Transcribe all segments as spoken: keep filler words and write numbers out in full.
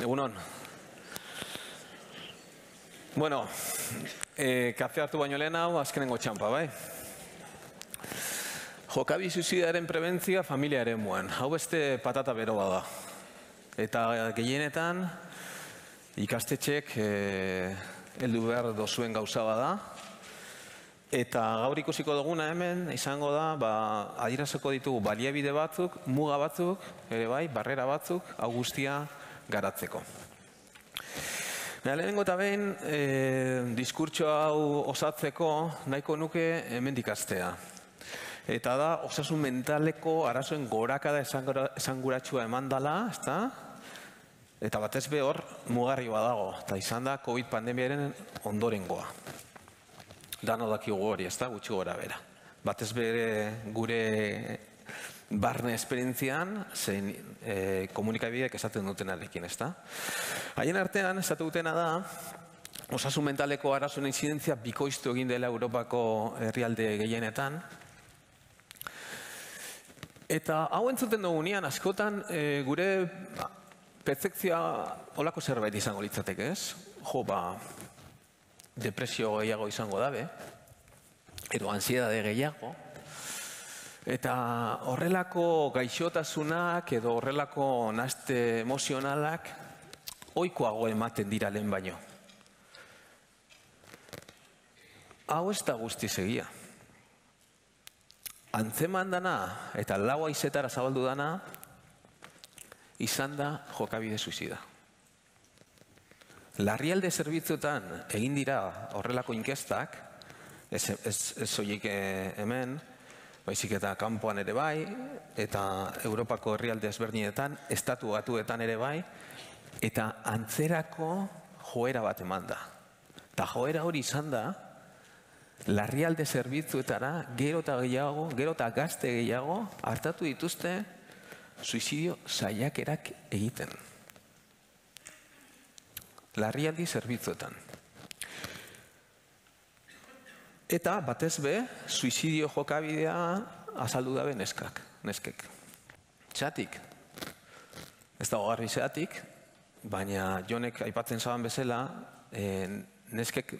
Egunon. Bueno, eh, kafe hartu baino lehen hau, azkenengo txampa, bai? Jokabi suizidaren prebentzioa familiaren muan. Hau beste patata beroa da. Eta gehienetan, ikastetxek eh, heldu behar dozuen gauza bada. Eta gaur ikusiko duguna hemen, izango da, ba, adieraziko ditugu baliabide batzuk, muga batzuk, ere bai, barrera batzuk, hau guztia garatzeko. Lehenengo eta behin, e, diskurtso hau osatzeko nahiko nuke hemendik hastea. Eta da, osasun mentaleko arazoen gorakada esanguratsua eman dela, ezta? Eta batez be hor mugarri badago, eta izan da COVID pandemiaren ondorengoa. Dano dakigu hori, ezta, gutxi gora bera. Batez bere gure barne esperientzian, zein e, komunikabideak esaten dutenarekin, ezta. Haien artean, esatu dutena da, osasun mentaleko arazoen inzidentzia bikoiztu egin dela Europako herrialde gehienetan. Eta hau entzuten dugunean, askotan e, gure pertzepzioa holako zerbait izango litzateke, ez? Jo, ba, depresio gehiago izango dabe, edo ansiedade gehiago, eta horrelako gaixotasunak edo horrelako nahaste emozionalak ohikoago ematen dira lehen baino. Hau ez da guztiz egia. Antzeman dana eta lau haizetara zabaldu dana izan da jokabide suizida. Larrialde zerbitzuetan egin dira horrelako inkestak, ez, ez, ez soilik hemen, baizik eta kanpoan ere bai, eta Europako herrialde ezberdinetan, estatu batuetan ere bai, eta antzerako joera bat eman da. Eta joera hori izan da, larrialde zerbitzuetara gero eta gehiago, gero eta gazte gehiago, hartatu dituzte suizidio saiakerak egiten. Larrialdi zerbitzuetan. Eta batez be, suizidio jokabidea azaldu dabe neskak, neskek. Txatik. Ez da hogarri zeatik, baina Jonek aipatzen zaban bezala, e, neskek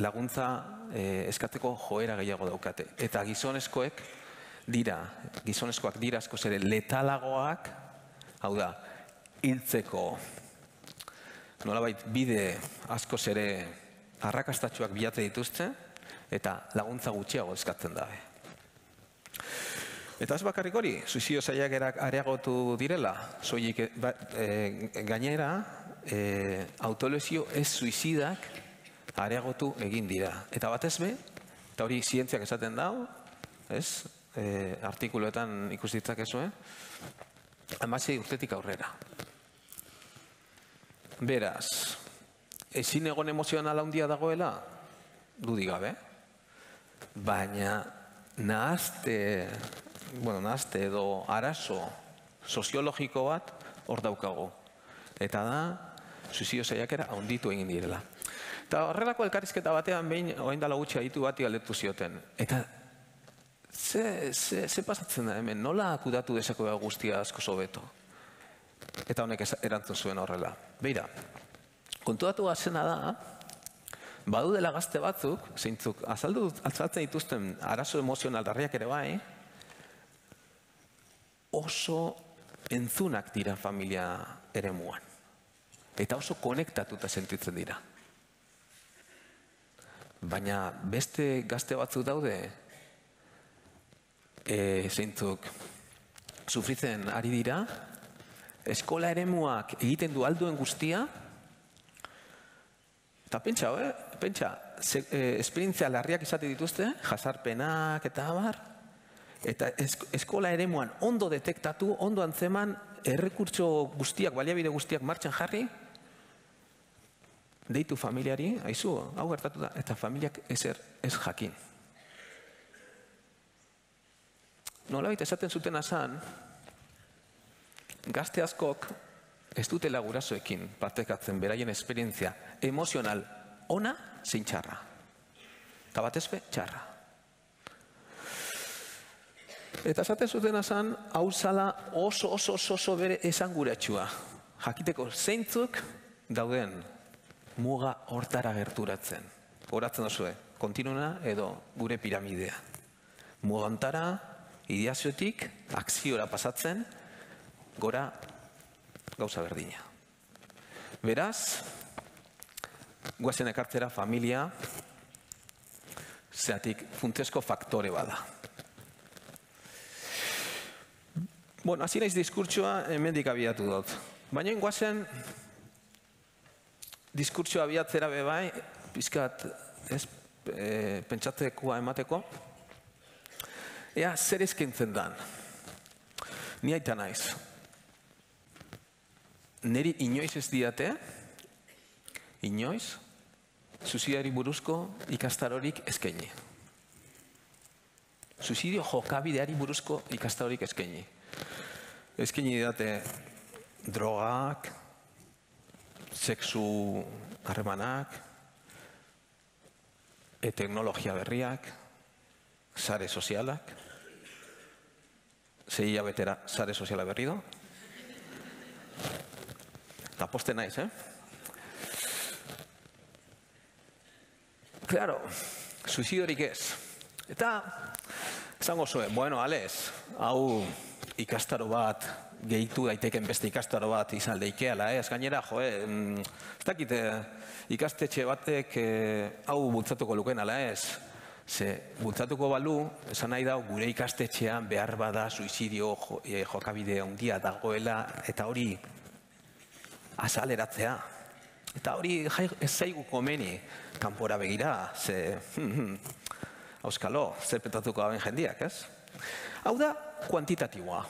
laguntza e, eskatzeko joera gehiago daukate. Eta gizonezkoek dira, gizonezkoak dira askoz ere letalagoak, hau da, hiltzeko nolabait bide askoz ere arrakastatsuak bilate dituzte, eta laguntza gutxiago eskatzen dabe. Eta ez bakarrik hori, suizidio saiakerak areagotu direla, soilik e, gainera, e, autolesio ez suizidak areagotu egin dira. Eta batez be, eta hori zientziak esaten dau, ez, e, artikuluetan ikus ditzakezue, hamasei urtetik aurrera. Beraz, ezin egon emozionala handia dagoela, dudik gabe, baina nahazte, bueno, nahazte edo arazo soziologiko bat hor daukagu. Eta da, suizidio saiakera handitu egin direla. Eta horrelako elkarrizketa batean behin, orain dela gutxi aditu bati galdetu zioten. Eta ze, ze, ze pasatzen da hemen, nola kudatu dezako guztia asko hobeto? Eta honek erantzun zuen horrela. Beira, kontuatu gazena da, badudela gazte batzuk, zeintzuk azaldu azaltzen dituzten arazo emozional larriak ere bai, oso entzunak dira familia eremuan. Eta oso konektatuta sentitzen dira. Baina beste gazte batzuk daude, e, zeintzuk sufritzen ari dira, eskola eremuak egiten du alduen guztia, eta pentsa, eh? pentsa, ze, eh, esperientzia larriak izate dituzte, jazarpenak eta abar, eta esk eskola eremuan ondo detektatu, ondo antzeman, errekurtso guztiak, baliabide guztiak martxan jarri, deitu familiari, aizu, hau gertatu da, eta familiak ezer ez jakin. Nolabait esaten zuten azan, gazte askok ez dutela gurasoekin partekatzen beraien esperientzia emozional ona zein txarra. Eta batez be, txarra. Eta esaten zuten azan, hau zala oso, oso, oso, oso bere esanguratsua. jakiteko zeintzuk dauden muga hortara gerturatzen. Horatzen duzue, kontinuna edo gure piramidea. Muga hontara, ideaziotik, akziora pasatzen, gora gauza berdina. Beraz, guazen ekartzera familia, zeatik funtsezko faktore bada. Bueno, hasi naiz diskurtsoa hemendik abiatu dut. Baina guazen diskurtsoa abiatzera bebai, pizkat ez e, pentsatzekoa emateko, ea zer eskaintzen dan. Ni aita naiz. Neri inoiz ez diate, inoiz, suizidioari buruzko ikastarorik eskaini. Suizidio jokabideari buruzko ikastarorik eskaini. Eskaini didate drogak, sexu harremanak, e teknologia berriak, sare sozialak, sei hilabetera sare soziala berri do. Eta poste naiz, eh? Claro, suizidiorik ez. Eta, esango zuen, bueno, alez, hau ikastaro bat, gehitu daiteken beste ikastaro bat izan leikeala, ez? Gainera, jo, ez dakite ikastetxe batek hau bultzatuko luken, ala ez? Ze, bultzatuko balu, esan nahi dau, gure ikastetxean behar bada suizidio jokabide handia dagoela, eta hori azaleratzea. Eta hori ez zaigu komeni kanpora begira, ze, auskalo, zer petatuko gaben jendiak, ez? Hau da, kuantitatiboa.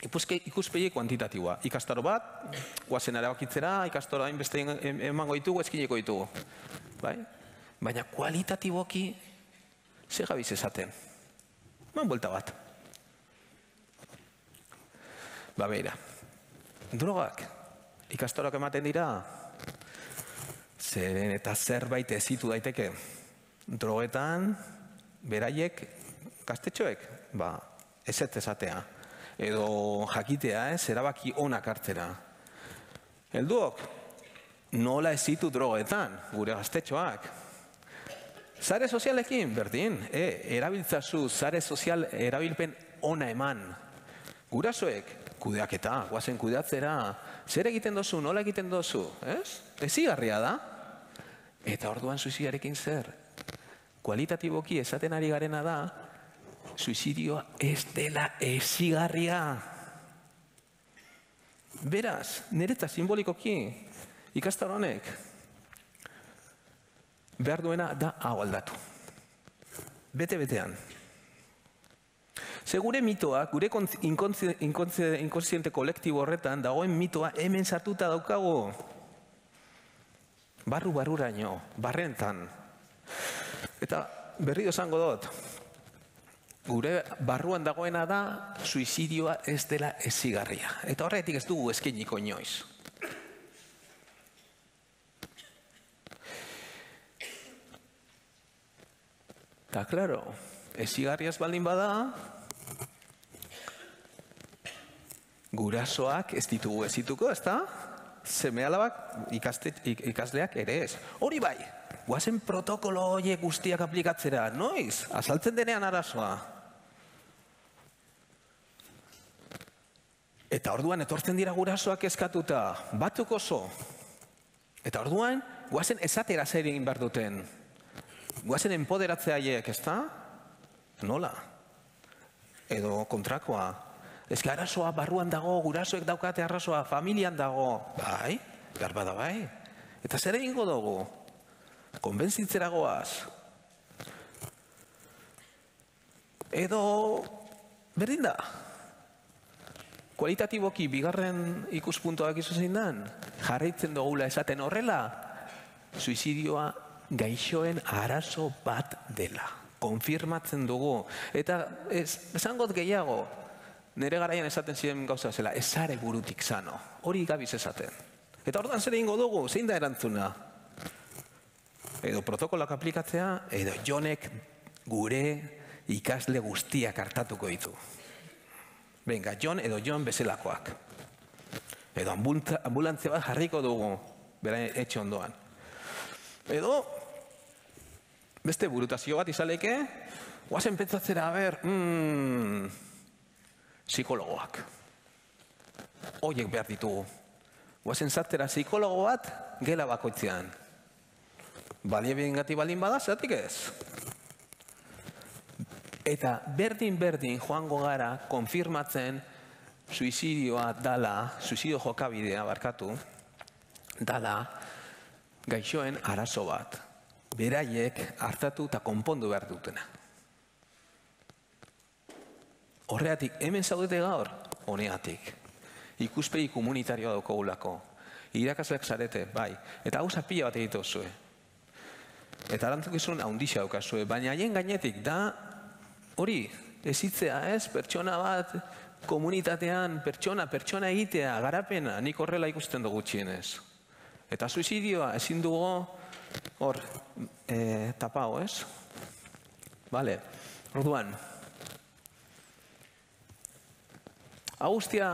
Ikuspegi kuantitatiboa. Ikastaro bat, guazen erabakitzera, ikastaro hainbeste emango ditugu, eskineko ditugu. Baina kualitatiboki, ze gabiz esaten. Man buelta bat. Ba, beira. Drogak, ikastaroak ematen dira, zeren eta zerbait ezitu daiteke. Drogetan, beraiek, gaztetxoek, ba, ezetz esatea. Edo jakitea, ez, erabaki onak hartzera. Helduok, nola ezitu drogetan, gure gaztetxoak. Sare sozialekin, berdin, e, erabiltzazu sare sozial erabilpen ona eman. Gurasoek, kudeaketa, guazen kudeatzera, zer egiten dozu, nola egiten dozu, ez? Ezigarria da. Eta orduan suizidarekin zer? Kualitatiboki esaten ari garena da, suizidioa ez dela ezigarria. Beraz, niretzat simbolikoki, ikastaro honek, behar duena da hau aldatu. Bete-betean. Ze gure mitoa, gure inkontziente kolektibo horretan, dagoen mitoa hemen sartuta daukagu. Barru-barruraino, barrentan. Eta berri esango dut, gure barruan dagoena da, suizidioa ez dela ezigarria. Eta horretik ez dugu eskainiko inoiz. Eta, klaro, ezigarria ez baldin bada, gurasoak ez ditugu ez dituko, ez da? Seme-alabak ikasleak ere ez. Hori bai, guazen protokolo horiek guztiak aplikatzera, noiz? Azaltzen denean arazoa. Eta orduan etortzen dira gurasoak eskatuta, batzuk oso. Eta orduan, guazen esatera zer egin behar duten. Guazen enpoderatzea haiek, ez da? Nola? Edo kontrakoa. Ez que arazoa barruan dago, gurasoek daukate arazoa, familian dago. Bai, garba da bai. Eta zer egingo dugu? Konbentzitzera goaz. Edo, berdin da. Kualitatiboki, bigarren ikuspuntoak izo zein dan, jarraitzen dugula esaten horrela, suizidioa gaixoen arazo bat dela. Konfirmatzen dugu. Eta esangot gehiago, nire garaian esaten ziren gauza zela, ezare burutik sano. Hori gabiz esaten. Eta orduan zer egingo dugu, zein da erantzuna? Edo protokolak aplikatzea, edo jonek gure ikasle guztiak hartatuko ditu. Venga, Jon edo Jon bezalakoak. Edo ambulantzia bat jarriko dugu, bera etxe ondoan. Edo, beste burutazio bat izaleke, guazen pentsatzera, ber, mm, psikologoak. Oiek behar ditugu. Guazen zartera psikologo bat, gela bakoitzean. Balie bingati baldin bada, zeratik ez? Eta berdin-berdin joango gara konfirmatzen suizidioa dala, suizidio jokabidea barkatu, dala gaixoen arazo bat. Beraiek hartatu eta konpondu behar dutena. Horregatik, hemen zaudete gaur, honeatik. Ikuspegi komunitarioa daukagulako. Irakasleak zarete, bai. Eta hau zapila bat egiten zuen. Eta erantzukizun handixa daukazue, baina haien gainetik da hori, ezitzea ez, pertsona bat, komunitatean, pertsona, pertsona egitea, garapena, nik horrela ikusten dugu txienez. Eta suizidioa ezin dugu hor, e, tapao, ez? Bale, orduan. Hau guztia,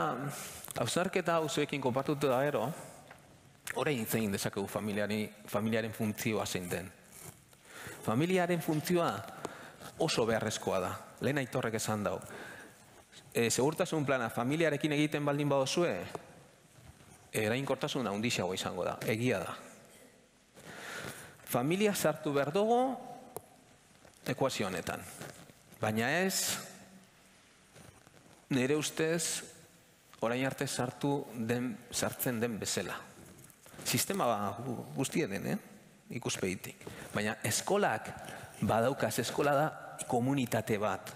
hausnarketa hau zuekin konpartutu da gero, orain hitz egin dezakegu familiaren funtzioa zein den. Familiaren funtzioa oso beharrezkoa da. Lehen Aitorrek esan dau. E, segurtasun plana familiarekin egiten baldin badozue, erainkortasun handiagoa izango da. Egia da. Familia sartu behar dugu ekuazio honetan. Baina ez, nire ustez, orain arte sartu den, sartzen den bezala. Sistema guztia den, eh? Ikuspegitik. Baina eskolak badaukaz, eskola da komunitate bat.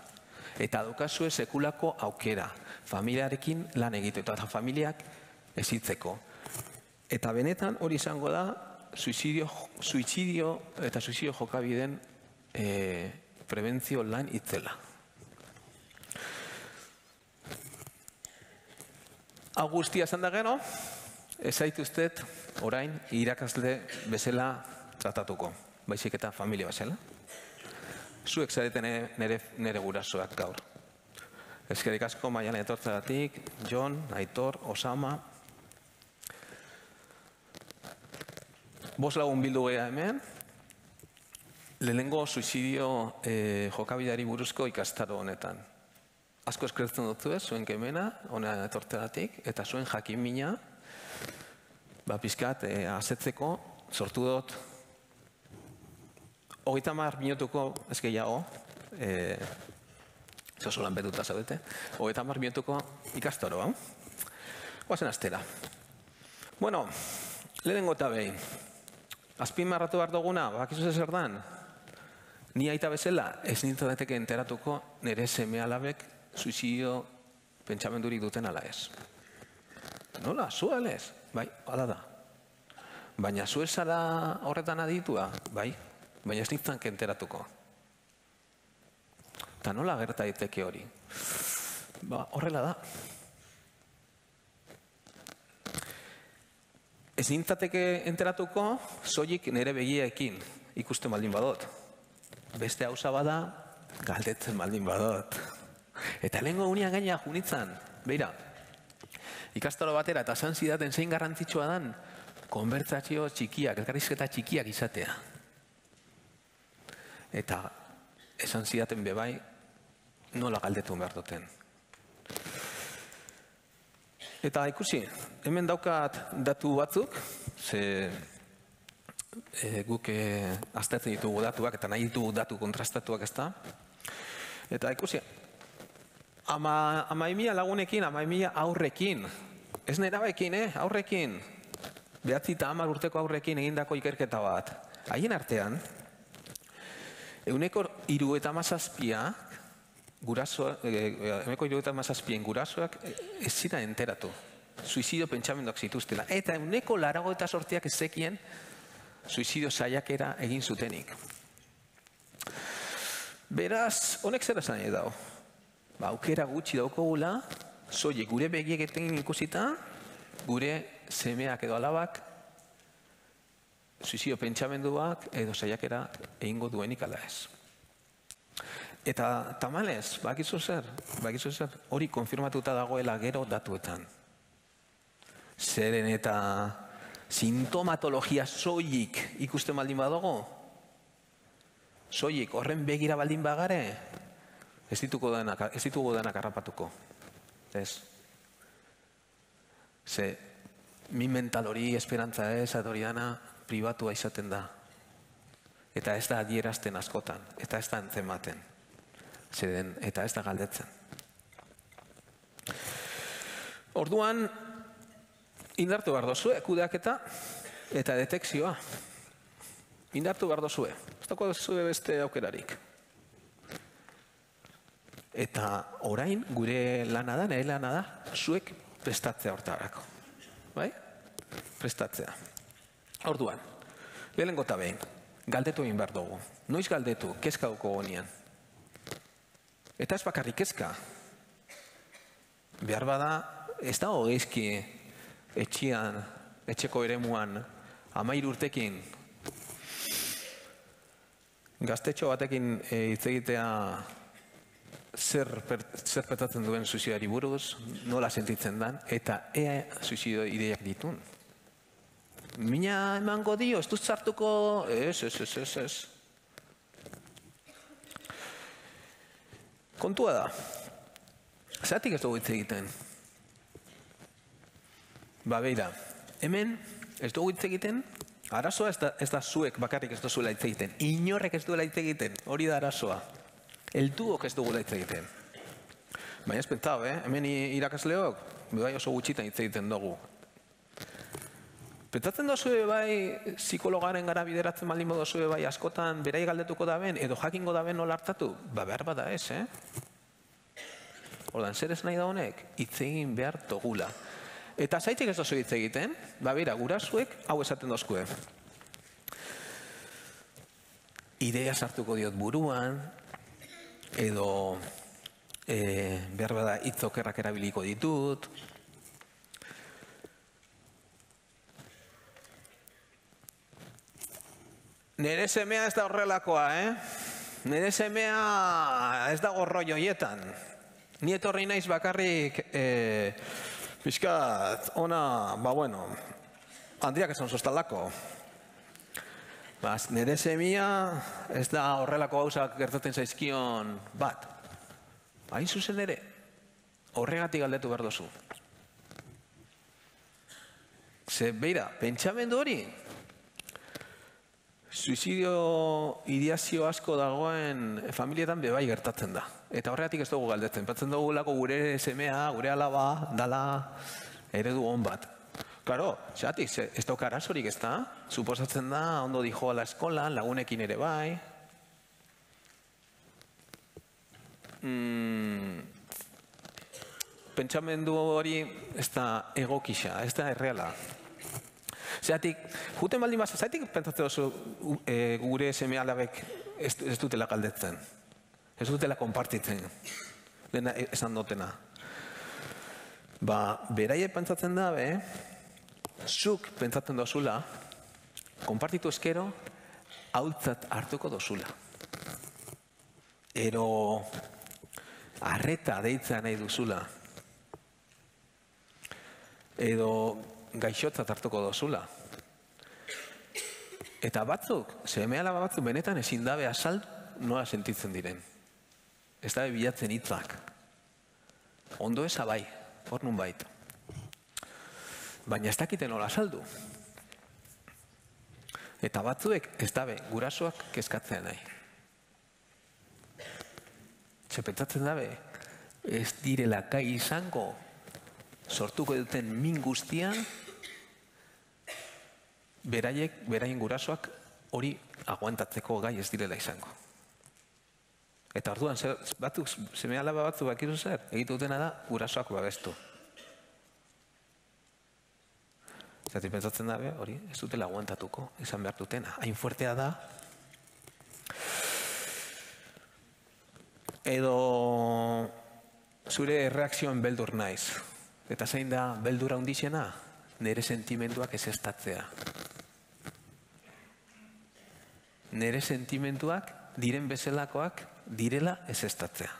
Eta daukazue sekulako aukera. Familiarekin lan egiteko eta familiak ezitzeko. Eta benetan hori izango da suizidio, suizidio eta suizidio jokabideen e, prebentzio lan itzela. Hau guztia esan da gero, ez zaituztet orain irakasle bezala tratatuko, baizik eta familia bezala. Zuek zareten nere, nere gurasoak gaur. Eskerrik asko Maialen etortzagatik, Jon, Aitor, Osama. Bost lagun bildu geha hemen, lehenengo suizidio eh, jokabidari buruzko ikastaro honetan. Asko eskertzen dut ez, zuen kemena, hona etortzagatik, eta zuen jakimina, ba, pizkat, eh, asetzeko, sortu dut, hogeita hamar minutuko, ez gehiago, e, zozo lan betuta zaudete, hogeita hamar minutuko ikastaro, hau? Guazen astera. Bueno, lehenengo eta behin, azpimarratu behar duguna, bakizu zer dan, ni aita bezala, ez nintzen daiteke enteratuko nire seme alabek suizidio pentsamendurik duten ala ez. Nola, zu alez? Bai, hala da. Baina zu zara horretan aditua? Bai. Baina ez nintzen kenteratuko. Eta nola gerta daiteke hori? Ba, horrela da. Ez nintzateke enteratuko, soilik nire begieekin ikusten baldin badot. Beste hauza bada, galdetzen baldin badot. Eta lehenko unian gaina junitzan, beira, ikastaro batera eta esan zidaten zein garrantzitsua dan, konbertsazio txikiak, elkarrizketa txikiak izatea. Eta esan zidaten bebai, nola galdetu behar duten. Eta ikusi, hemen daukat datu batzuk, ze e, guk e, aztertzen ditugu datuak, eta nahi ditugu datu kontrastatuak ez da. Eta ikusi, ama, ama emia lagunekin, ama emia aurrekin, ez nerabekin, eh, aurrekin, behatzi eta hamar urteko aurrekin egindako ikerketa bat. Haien artean, Euneko hirurogeita hamazazpiak gurasoak, euneko hirurogeita hamazazpien gurasoak ez ziren enteratu. Suizidio pentsamenduak zituztela. Eta euneko laurogeita zortziak ez zekien suizidio saiakera egin zutenik. Beraz, honek zer esan nahi dago? Ba, aukera gutxi daukagula, soilik gure begieketan ikusita, gure semeak edo alabak suizidio pentsamenduak edo saiakera egingo duenik ala ez. Eta tamalez, bakizu zer, bakizu zer, hori konfirmatuta dagoela gero datuetan. Zeren eta sintomatologia soilik ikusten baldin badugu, soilik horren begira baldin bagare, ez ditugu denak, ez ditugu denak harrapatuko. Ez. Ze, min mental hori esperantza ez, hori dana pribatua izaten da. Eta ez da adierazten askotan, eta ez da antzematen. Zeden, eta ez da galdetzen. Orduan, indartu behar dozue, kudeaketa eta detekzioa. Indartu behar dozue. Ez dago dozue beste aukerarik. Eta orain, gure lana da, nire lana da, zuek prestatzea hortarako. Bai? Prestatzea. Orduan, lehenengo eta behin, galdetu egin behar dugu. Noiz galdetu, kezka duko gonian. Eta ez bakarrik kezka. Behar bada, ez da hogeizki etxian, etxeko eremuan, amairu urtekin, gaztetxo batekin hitz egitea zer petatzen duen suizidari buruz, nola sentitzen dan, eta ea suizido ideiak ditun. Mina emango dio, ez dut zartuko, ez, ez, ez, ez, ez. Kontua da, zeratik ez dugu hitz egiten? Ba, beira, hemen ez dugu hitz egiten, arazoa ez da, ez da zuek bakarrik ez duzuela hitz egiten, inorrek ez duela hitz egiten, hori da arazoa. Helduok ez dugula hitz egiten. Baina ez pentsau, eh? Hemen irakasleok, bai oso gutxitan hitz egiten dugu. Pentsatzen dozue bai psikologaren gara bideratzen baldin dozue bai askotan berai galdetuko da ben, edo jakingo da ben nola hartatu? Ba behar bada ez, eh? Ordan, zer ez nahi da honek? Hitz egin behar dugula. Eta zaitik ez dozu hitz egiten, ba bera, gurasoek hau esaten dozkue. Idea sartuko diot buruan, edo behar bada hitz okerrak erabiliko ditut. Nere semea ez da horrelakoa, eh? Nere semea ez dago rollo hoietan. Ni etorri naiz bakarrik pixkat, ona, ba bueno, handiak esan sostalako. Nere semea ez da horrelako gauzak gertatzen zaizkion bat. Hain zuzen ere, horregatik galdetu behar dozu. Ze, beira, pentsamendu hori, suizidio ideazio asko dagoen familietan bebai gertatzen da. Eta horregatik ez dugu galdetzen. Patzen dugu lako gure semea, gure alaba, dala eredu hon bat. Klaro, xatik, ez dauka arazorik ez da. Suposatzen da, ondo dijo ala eskolan, lagunekin ere bai. Mm, pentsamendu hori ez da egokisa, ez da erreala. Zeratik, juten baldin basa, zaitik pentsatzen oso gure seme alabek ez dutela galdetzen. Ez dutela konpartitzen. Lehena esan dutena. Ba, beraie pentsatzen da, be, zuk pentsatzen dozula, konpartitu eskero, hautzat hartuko dozula. Ero, arreta deitzea nahi duzula. Edo, gaixotzat hartuko dozula. Eta batzuk, seme alaba batzuk benetan ezin dabe azal nola sentitzen diren. Ez dabe bilatzen hitzak. Ondo eza bai, hor nun bait. Baina ez dakiten nola azaldu. Eta batzuek ez dabe gurasoak kezkatzea nahi. Txepetzatzen dabe, ez direla gai izango sortuko duten min guztian, beraiek, beraien gurasoak hori aguantatzeko gai ez direla izango. Eta orduan, batzuk, seme alaba batzuk bakizu zer, egitu dutena da, gurasoak babestu. Zerti pentsatzen dabe, hori, ez dutela aguantatuko, izan behar dutena. Hain fuertea da, edo zure reakzioen beldur naiz. Eta zein da beldura hundixena, nire sentimenduak ez estatzea. Nire sentimenduak, diren bezalakoak, direla ez estatzea.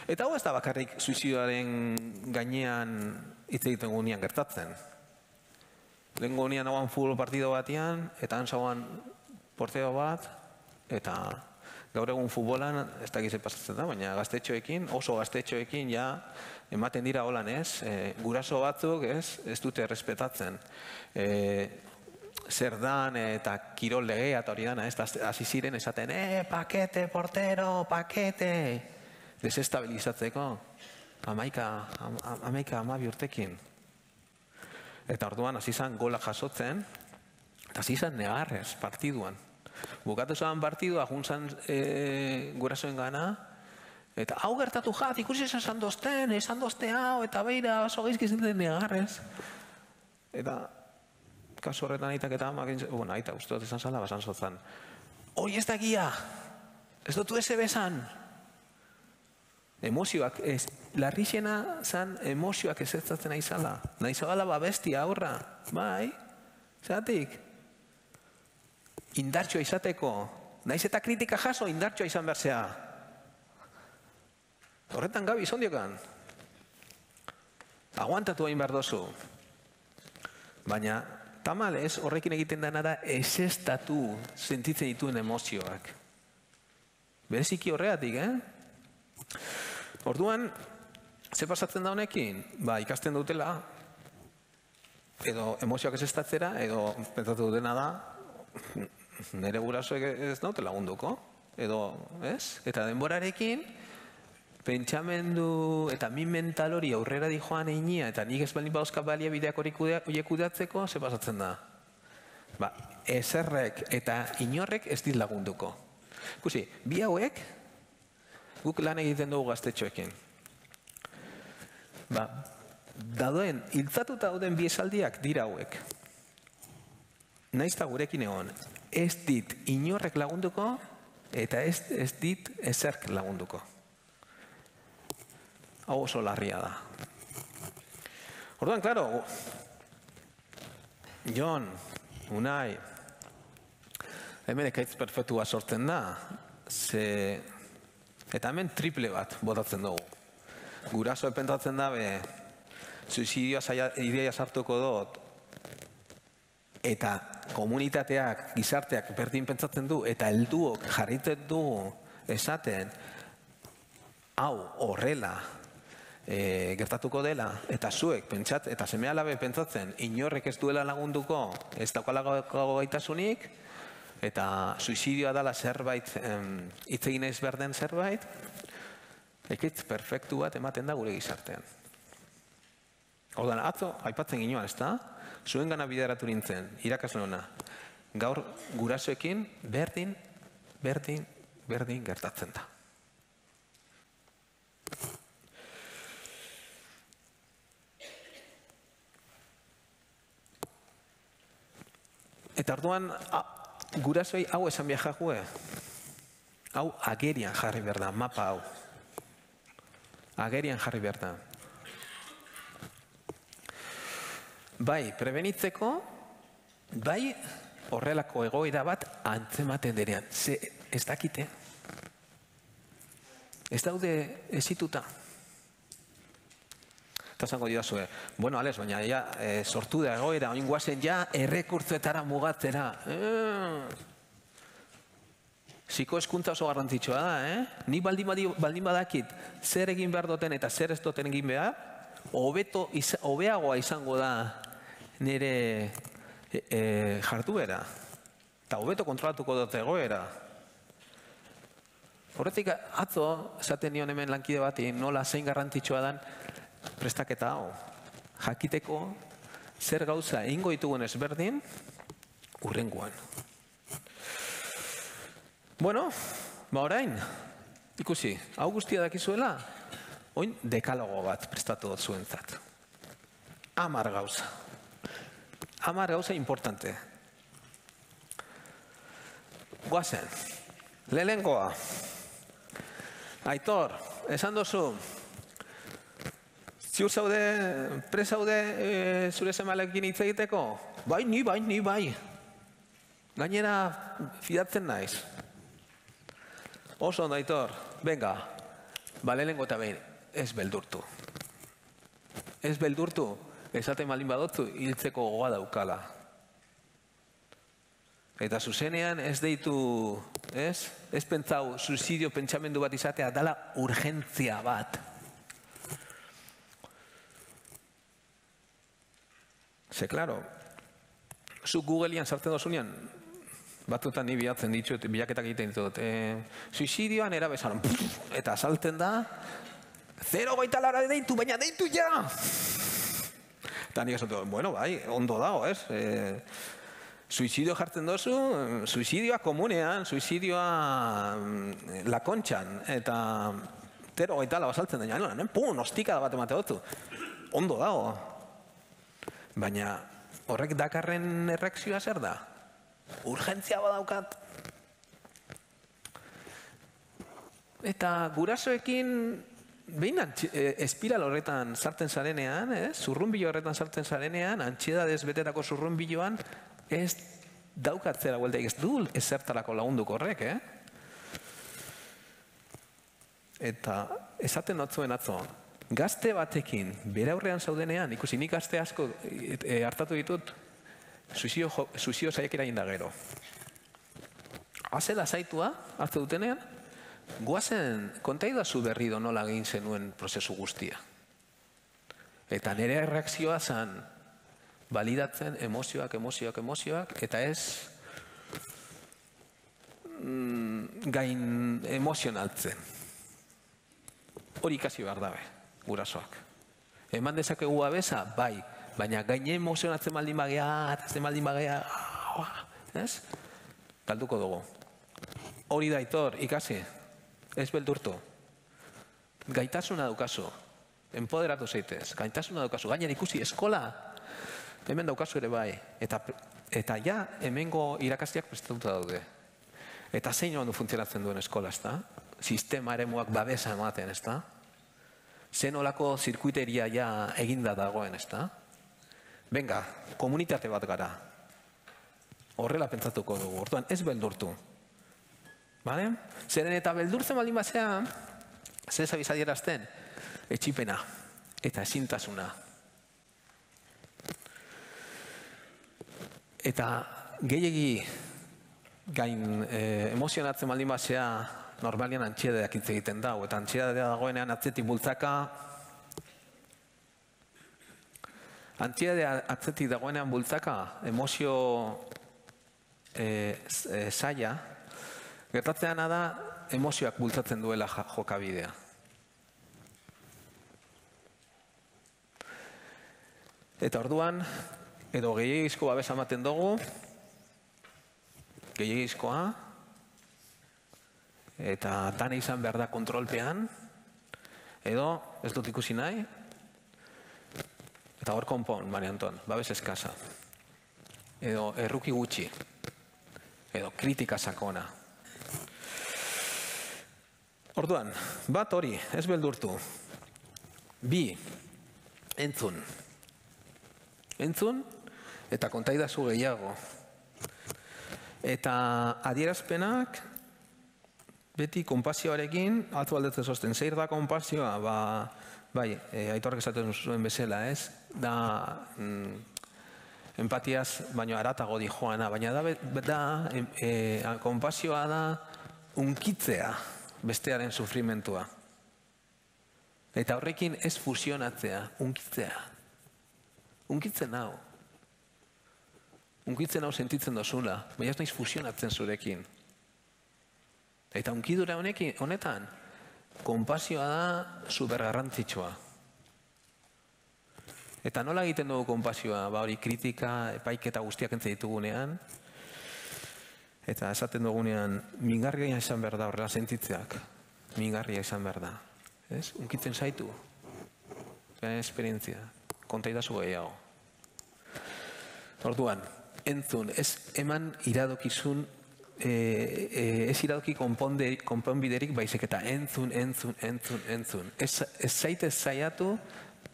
Eta hau ez da bakarrik suizidioaren gainean hitz egiten gunean gertatzen. Lehen gunean hauan futbol partido batean, eta hantzauan porteo bat, eta gaur egun futbolan, ez da gizet pasatzen da, baina gaztetxoekin, oso gaztetxoekin ja ematen dira holan ez, e, guraso batzuk ez, ez dute errespetatzen. E, zer dan eta kirol legea eta hori dana, ez, hasi ziren esaten, eh, pakete, portero, pakete, desestabilizatzeko, amaika, amaika amabi urtekin. Eta orduan hasi zan gola jasotzen, eta hasi zan negarrez partiduan. Bukatu zan partidua, juntzan e, gurasoen gana, eta hau gertatu jat, ikusi esan dozten, esan dozte hau, eta beira oso geizki zinten negarrez. Eta kasu horretan aitak eta amak, bueno, aita uste dut esan zala, basan zotzan. Hoi ez da gia, ez dutu eze bezan. Emozioak, ez, larrixena zan emozioak ez ez zatzen aizala. Naizabala babestia aurra, bai, zatik. Indartxoa izateko, naiz eta kritika jaso, indartxoa izan berzea. Horretan gabi, izondiokan. Aguantatu hain behar dozu. Baina, tamalez, horrekin egiten dena da, ezestatu sentitzen dituen emozioak. Bereziki horreatik, eh? Orduan, ze pasatzen da honekin? Ba, ikasten dutela, edo emozioak ezestatzera, edo pentsatu dutena da, nire gurasoek ez naute lagunduko, edo, ez? Eta denborarekin, pentsamendu eta min mental hori aurrera di joan einia, eta nik ez baldin bauzka balia bideak hori kudeatzeko, ze pasatzen da? Ba, ezerrek eta inorrek ez dit lagunduko. Ikusi, bi hauek, guk lan egiten dugu gaztetxoekin. Ba, dauden, hiltzatuta dauden bi esaldiak dira hauek. Naiz eta gurekin egon, ez dit inorrek lagunduko, eta ez, ez dit ezerk lagunduko. Hau oso larria da. Orduan, klaro, Jon, Unai, hemen ekaitz perfektua sortzen da, ze, eta hemen triple bat botatzen dugu. Guraso epentatzen dabe, suizidioa ideia sartuko dut, eta komunitateak, gizarteak berdin pentsatzen du, eta helduok jarritzen du esaten, hau horrela e, gertatuko dela, eta zuek pentsat, eta seme-alabe pentsatzen, inorrek ez duela lagunduko, ez daukalago gaitasunik, eta suizidioa dela zerbait, hitz egin ez berden zerbait, ekitz perfektu bat ematen da gure gizartean. Ordan, atzo, aipatzen ginoan, ez da? Zuen gana bideratu nintzen, irakasle hona. Gaur gurasoekin berdin, berdin, berdin gertatzen da. Eta orduan, gurasoei hau esan biajakue. Hau agerian jarri behar da, mapa hau. Agerian jarri behar da. Bai, prebenitzeko, bai, horrelako egoera bat antzematen denean. Ze, ez dakite. Ez daude ezituta. Eta zango didazue, bueno, Alex, baina ja, e, sortu da egoera, oin guazen ja, errekurtzuetara mugatzera. Eh. Ziko eskuntza oso garrantzitsua da, eh? Ni baldin, baldin badakit zer egin behar duten eta zer ez duten egin behar, hobeto, hobeagoa izango da nire e, e, jarduera. Eta hobeto kontrolatuko dut egoera. Horretik atzo, esaten nion hemen lankide bati, nola zein garrantzitsua dan, prestaketa hau. Jakiteko zer gauza egingo ditugun ezberdin, hurrengoan. Bueno, ba orain, ikusi, hau guztia dakizuela, oin dekalogo bat prestatu dut zuentzat. Amar gauza. Amar gauza importante. Guazen, lehengoa. Aitor, esan dozu, ziur zaude, presaude e, zure semalekin hitz egiteko? Bai, ni bai, ni bai. Gainera, fidatzen naiz. Oso ondo, Aitor, venga, Ba, lehenengo eta behin, ez beldurtu. Ez beldurtu, esaten baldin badotzu, hiltzeko gogoa daukala. Eta zuzenean ez deitu, ez? Ez pentsau, suizidio pentsamendu bat izatea, dala urgentzia bat. Ze, klaro, zu Googlean sartzen dozunean, batzutan ni bilatzen ditut, bilaketak egiten ditut, suizidioan erabezaron, eta salten da, zero goita lara deitu, baina deitu ja! Eta nik esan, bueno, bai, ondo dago, ez? Suizidio jartzen dozu, suizidioa komunean, suizidioa lakontxan, eta zero goita lara saltzen da, ja, pum, ostikada bat emate dozu. Ondo dago. Baina horrek dakarren erreakzioa zer da? Urgentzia badaukat. Eta gurasoekin behin espiral horretan sartzen zarenean, zurrunbilo horretan sartzen zarenean, antxiedadez betetako zurrunbiloan, ez daukatzera bueltaik, ez du ezertarako lagunduko horrek, eh? Eta esaten notzuen atzo, gazte batekin, bere aurrean zaudenean, ikusi nik gazte asko hartatu ditut, suizio saiakera egin da gero. Azela zaitua, hartu dutenean, guazen, kontaidazu berri do nola egin zenuen prozesu guztia. Eta nire erreakzioa zen, balidatzen emozioak, emozioak, emozioak, eta ez gain emozionaltzen. Hori ikasi behar dabe, gurasoak. Eman dezakegu abeza, bai, baina gaine emozionatzen baldin bagea, atatzen baldin bagea, ez? Galduko dugu. Hori da, Aitor, ikasi, ez beldurtu. Gaitasuna daukazu, empoderatu zeitez, gaitasuna daukazu, gainen ikusi eskola, hemen daukazu ere bai, eta ja, hemengo irakastiak prestatuta daude. Eta zein ondo funtzionatzen duen eskola, ez da? Sistema eremuak babesa ematen, ez da? Zen olako zirkuiteria ja eginda dagoen, ez da? Venga, komunitate bat gara. Horrela pentsatuko dugu, orduan ez beldurtu. Bale? Zeren eta beldurtzen baldin batzea, zer zabizadierazten, etxipena eta ezintasuna. Eta gehiegi gain emozionatzen baldin batzea, normalian antxiedadeak hitz egiten dago, eta antxiedadea dagoenean atzetik bultzaka, antxiedadea atzetik dagoenean bultzaka, emozio zaila, gertatzeana da emozioak bultzatzen duela jokabidea. Eta orduan, edo gehiagizko babesa ematen dugu, gehiagizkoa, eta dana izan behar da kontrolpean, edo ez dut ikusi nahi, eta hor konpon, Mari Anton, babes eskasa, edo erruki gutxi, edo kritika sakona. Orduan, bat hori, ez beldurtu. Bi, entzun. Entzun, eta kontaidazu gehiago. Eta adierazpenak, beti konpasioarekin, atzu aldetzen zosten, zeir da konpasioa, ba, bai, Aitorrek esaten zuen bezala, ez? Da, empatiaz, baino aratago di joana, baina da, konpasioa da, unkitzea bestearen sufrimentua. Eta horrekin ez fusionatzea, unkitzea. Unkitzen hau. Unkitzen hau sentitzen dozula, baina ez naiz fusionatzen zurekin. Eta unkidura honetan, konpasioa da supergarrantzitsua. Eta nola egiten dugu konpasioa, ba hori kritika, epaiketa guztiak entzai ditugunean, eta esaten dugunean, mingarria izan behar da horrela sentitzeak, mingarria izan behar da. Unkitzen zaitu, esperientzia, kontaidazu gehiago. Orduan, entzun, ez eman iradokizun, ez iradoki konponbiderik baizik eta entzun, entzun, entzun, entzun. Ez zaitez zaiatu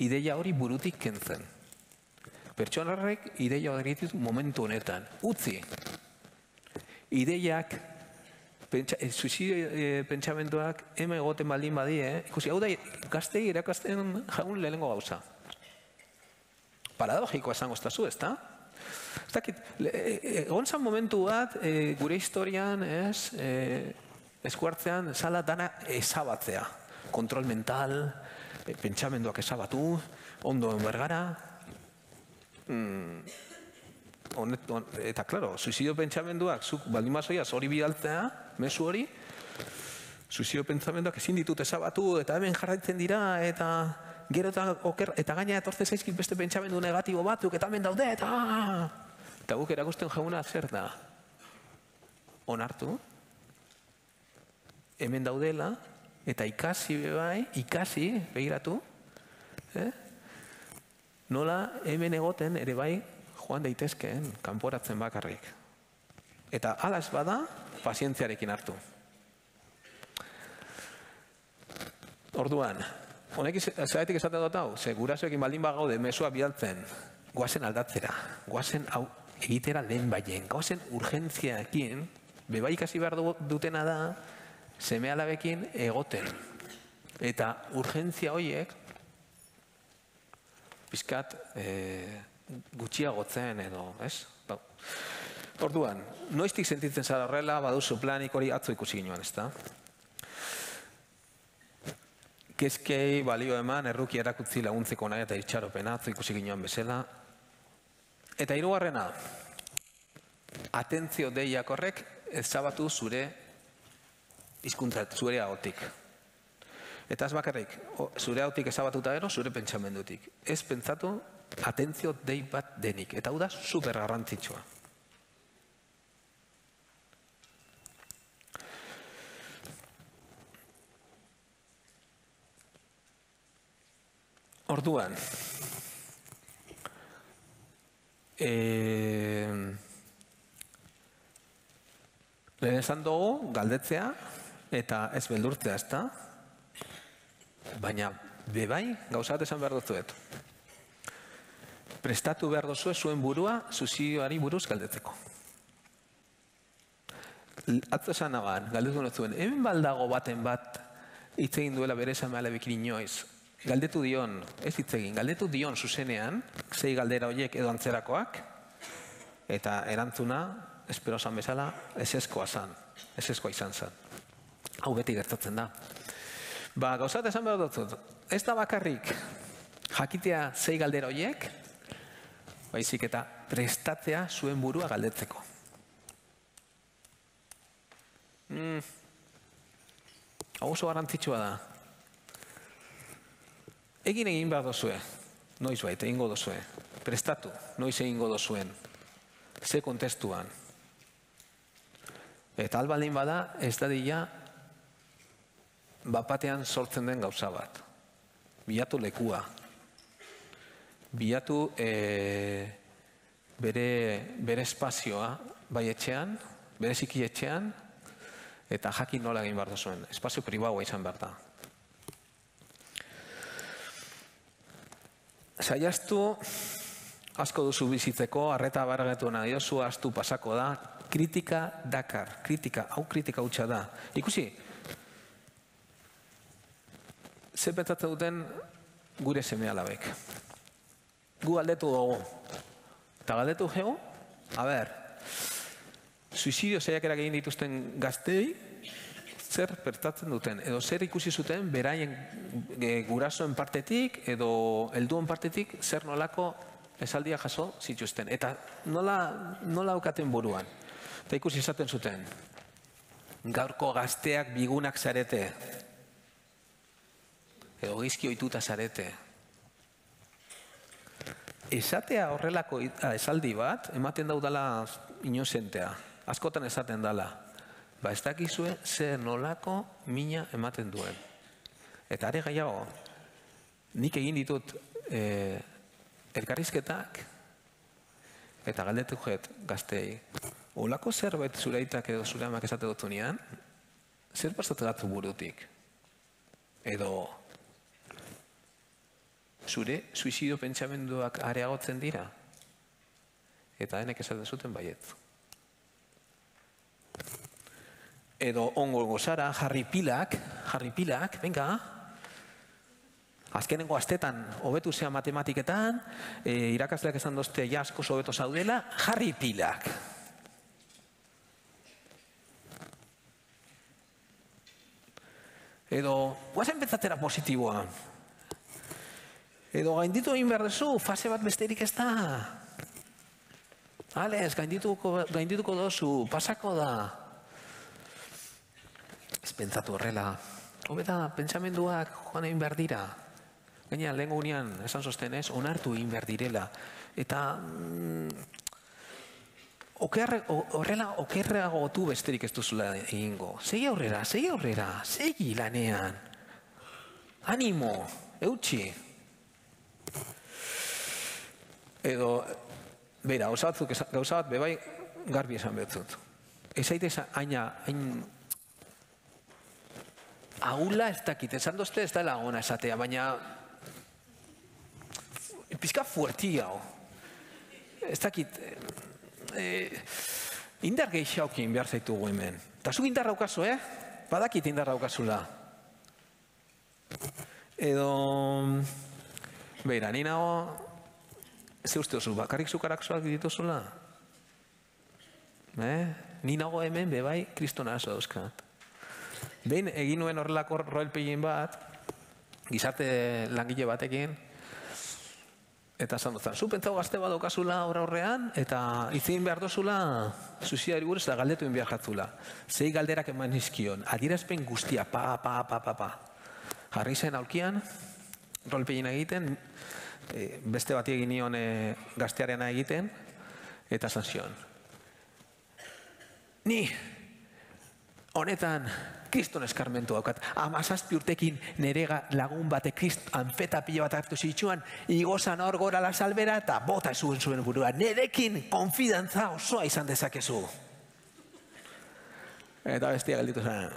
ideia hori burutik kentzen. Pertsonarrek ideia hori ditu momentu honetan. Utzi. Ideiak suizidio pentsamenduak hemen egoten baldin badie, ikusi, hau da, gaztei erakasten jaun lehenengo gauza. Paradogikoa esango estazu, ez da? Ez dakit, egon zan momentu bat, gure historian, ez, eskuartzean, zala dana ezabatzea. Kontrol mental, pentsamenduak ezabatu, ondo enbergara. Eta, klaro, suizidio pentsamenduak, zuk baldin bazoiaz hori bidaltzea, mezu hori, suizidio pentsamenduak ezin ditut ezabatu, eta hemen jarraitzen dira, eta gero eta gaina etortze zaizkit beste pentsamendu negatibo batzuk, eta hemen daude, eta... Eta guk erakusten jauna zer da? Onartu, hemen daudela, eta ikasi bebai, ikasi, begiratu, nola hemen egoten ere bai joan daitezkeen kanporatzen bakarrik. Eta hala ez bada, pazientziarekin hartu. Orduan, honek zeratik esaten dut hau, ze gurasoekin baldin bagaude mesua bidaltzen, goazen aldatzera, goazen hau egitera lehen baien, goazen urgentziaekin, bebai ikasi behar dutena da, seme alabekin egoten. Eta urgentzia horiek, pizkat gutxiagotzen edo, ez? Orduan, noiztik sentitzen zara horrela, baduzu planik hori atzo ikusi ginoan, ez da? Kezkei balio eman, erruki erakutzi laguntzeko nahi eta itxaropena, atzo ikusi ginoan bezala. Eta hirugarrena, atentzio deiak horrek ezabatu zure hizkuntza, zure ahotik. Eta ez bakarrik, zure ahotik ezabatuta gero, zure pentsamendutik. Ez pentsatu atentzio dei bat denik. Eta hau da super garrantzitsua. Orduan, lehen esan dugu galdetzea eta ez beldurtzea, ez da? Baina, bebai, gauza bat esan behar duzuet. Prestatu behar duzue zuen burua suizidioari buruz galdetzeko. Atzo esan nagoan, galdetu nozuen, hemen baldago baten bat hitz egin duela bere seme alabekin inoiz. Galdetu dion, ez hitz egin, galdetu dion zuzenean, zei galdera horiek edo antzerakoak, eta erantzuna, espero zan bezala, eseskoa zan, eseskoa izan zan. Hau beti gertatzen da. Ba, gauzat esan behar dut, ez da bakarrik jakitea zei galdera horiek, baizik eta prestatzea zuen burua galdetzeko. Hau oso garrantzitsua da. Egin egin behar dozue, noiz bait, egingo dozue. Prestatu, noiz egingo dozuen. Ze kontestuan. Eta albaldin bada, ez dadila bapatean sortzen den gauza bat. Bilatu lekua. Bilatu bere espazioa bai etxean, bere ziki etxean, eta jakin nola egin behar dozuen. Espazio pribaua izan behar da. Saiaztu, asko duzu bizitzeko, arreta barretu nahi dozu, astu pasako da, kritika dakar, kritika, hau kritika hutsa da. Ikusi, ze pentsatzen duten gure seme alabek. Gu galdetu dugu. Eta galdetu geu, a ber, suizidio saiakerak egin dituzten gaztei, zer pertatzen duten, edo zer ikusi zuten beraien gurasoen partetik edo helduen partetik zer nolako esaldia jaso zituzten. Eta nola aukaten buruan. Eta ikusi esaten zuten, gaurko gazteak bigunak zarete, edo gizki ohituta zarete. Esatea horrelako esaldi bat, ematen daudala inozentea. Askotan esaten dala. Ba, ez dakizue zer nolako mina ematen duen. Eta are gehiago, nik egin ditut elkarrizketak eta galdetu jet gaztei. Olako zerbait zure aitak edo zure amak esate dutu nian, zer pasatu datu burutik? Edo zure suizidio pentsamenduak areagotzen dira? Eta denek esaten zuten baiet. edo ongo gozara, jarri pilak, jarri pilak, venga. Azkenengo astetan hobetu zea matematiketan, e, irakasleak esan dozte jasko hobeto zaudela, jarri pilak. Edo, guazen pentsatera positiboan. Edo, gainditu egin behar duzu, fase bat besterik ez da. Ales, gaindituko, gaindituko dozu, pasako da. Ez pentsatu horrela. Hobeta, pentsamenduak joan egin behar dira. Gaina, lehen gunean, esan sostenez, onartu egin behar direla. Eta, mm, okerre, horrela, okerreago gotu besterik ez duzula egingo. Segi aurrera, segi aurrera, segi lanean. Animo, eutxi. Edo, beira, gauza batzuk, gauza bat, bebai, garbi esan betzut. Ez aite aina, hain, ahula ez dakit, esan dozte ez da lagona esatea, baina pizka fuertiago. Ez dakit, eh, indar gehiagokin behar zaitugu hemen. Eta zuk indar daukazu, eh? Badakit indar daukazula. Edo, beira, ni nago, ze uste oso, bakarrik zukarakzoak dituzula? Eh? Ni nago hemen, bebai, kristona aso dauzkat. Behin egin nuen horrelako roleplaying bat, gizarte langile batekin, eta esan duzan, zu pentsau gazte bat daukazula horra horrean, eta izin behar dozula, suizidari buruz, eta galdetu egin behar jatzula. Zei galderak eman izkion, adierazpen guztia, pa, pa, pa, pa, pa. Jarri zen aulkian, roleplaying egiten, e, beste bati egin nion e, gaztearena egiten, eta esan zion. Ni, honetan, kriston eskarmentu daukat. Amazazpi urtekin nere lagun bate krist anfeta pila bat hartu zitsuan, igozan hor gora la salbera eta bota zuen zuen burua. Nerekin konfidantza osoa izan dezakezu. Eta bestia galditu zen.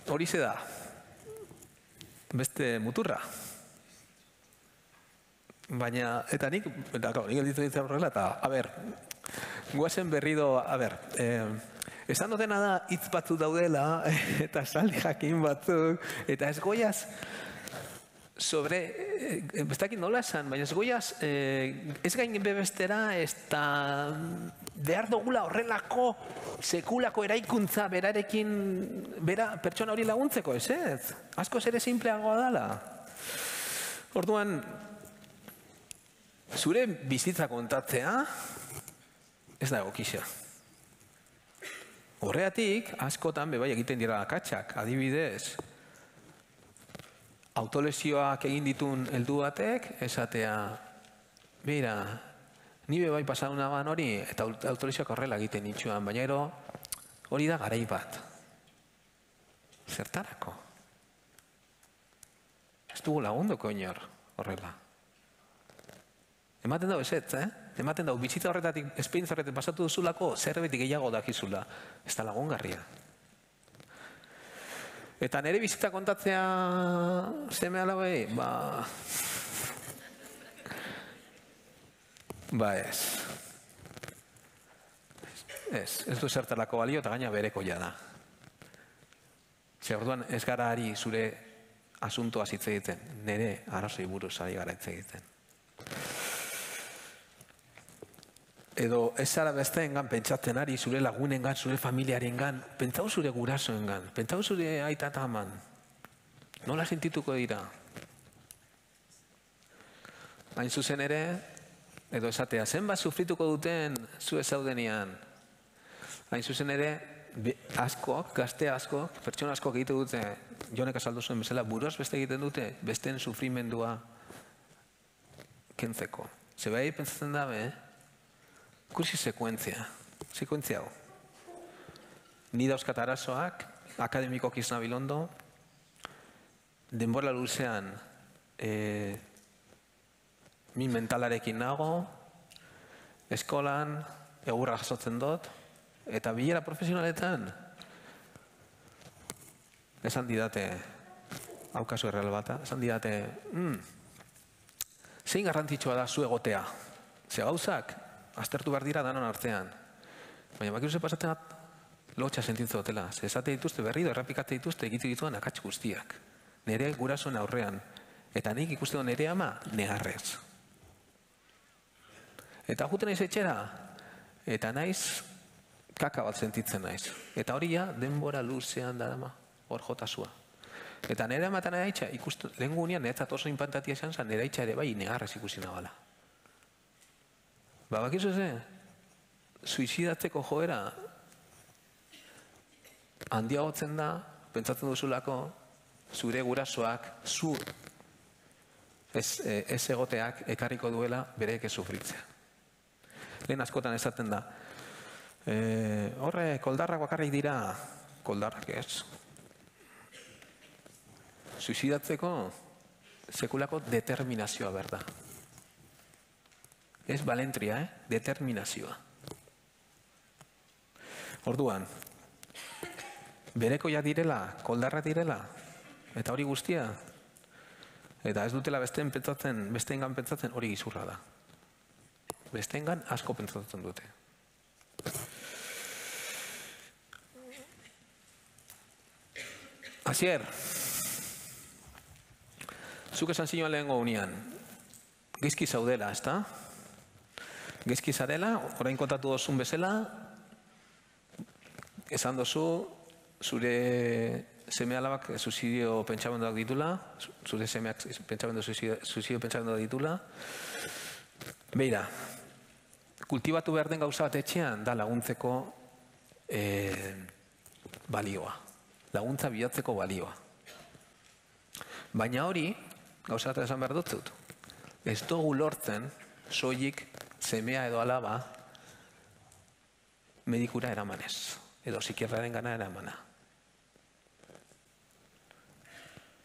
Horize da. Beste muturra. Baina, eta nik, eta nik gelditu ditzen horrela, eta, a ber, guazen berrido, a ber, eh, esan dutena da hitz batzuk daudela, eta saldi jakin batzuk, eta ez goiaz, sobre, eh, ez dakit nola esan, baina ez goiaz, eh, ez gain bebestera, ez da behar dugula horrelako sekulako eraikuntza berarekin, bera pertsona hori laguntzeko, ez ez? Asko ere simpleagoa dala. Orduan, zure bizitza kontatzea, ez da egokisa. Horregatik, askotan bebai egiten dira akatsak, adibidez. Autolesioak egin ditun heldu batek, esatea, beira, ni bebai pasaduna ban hori, eta autolesioak horrela egiten nitsuan, baina ero hori da garai bat. Zertarako? Ez dugu lagunduko inor horrela. Ematen dago ezetz, eh? Ematen dago, bizitza horretatik, esperientzia horretatik pasatu duzulako, zerbait gehiago dakizula. Ez da lagungarria. Eta nire bizitza kontatzea seme alabei, ba... Ba ez. Ez, ez du zertarako balio eta gaina bereko ja da. Zer orduan ez gara ari zure asuntoa hitz egiten, nire arrazoi buruz ari gara hitz egiten. Edo ez zara besteengan pentsatzen ari, zure lagunengan, zure familiarengan, pentsau zure gurasoengan, pentsau zure aita eta aman. Nola sentituko dira? Hain zuzen ere, edo esatea, zenbat sufrituko duten zu ez zaudenean. Hain zuzen ere, askok, gazte askok, pertsona askok egite dute, Jonek azaldu zuen bezala, buruaz beste egiten dute, besteen sufrimendua kentzeko. Zebai pentsatzen dabe, eh? Kursi sekuentzia, sekuentzia hau. Ni dauzkat arazoak, akademikoak izan bilondo, denbora luzean e, min mentalarekin nago, eskolan, egurra jasotzen dut, eta bilera profesionaletan, esan didate, hau kasu erreal bata, esan didate, mm, zein garrantzitsua da zu egotea, ze gauzak, aztertu behar dira danon artean. Baina bakiru ze pasatzen bat, lotxa sentitzen dutela. Zesate dituzte berri, errapikate dituzte, egitu dituen akats guztiak. Nere gurasoen aurrean. Eta nik ikuste dut nere ama negarrez. Eta juten naiz etxera, eta naiz kaka bat sentitzen naiz. Eta hori ja, denbora luzean darama, hor jotasua. Eta nire ama eta nire haitxa, lehen gunean, niretzat oso inpantatia esan zen, nire haitxa ere bai negarrez ikusi nabala. Ba, bakizu ze, suizidatzeko joera handiagotzen da, pentsatzen duzulako, zure gurasoak, zu ez, ez egoteak ekarriko duela bereek ez sufritzea. Lehen askotan esaten da, e, horre, koldarrak bakarrik dira, koldarrak ez. Suizidatzeko sekulako determinazioa berda. Ez balentria, eh? Determinazioa. Orduan, berekoia direla, koldarra direla, eta hori guztia, eta ez dutela besteen pentsatzen, besteengan pentsatzen hori gizurra da. Besteengan asko pentsatzen dute. Asier, zuk esan zinoan lehengo unian, gizki zaudela, ezta? Gizki zarela, orain kontatu dozun bezala, esan dozu, zure seme alabak suizidio pentsamenduak ditula, zure semeak suizidio pentsamenduak ditula. Beira, kultibatu behar den gauza bat etxean da laguntzeko balioa. Laguntza bilatzeko balioa. Baina hori, gauza bat esan behar dut, ez dugu lortzen soilik semea edo alaba medikura eramanez, edo psikiatraren gana eramana.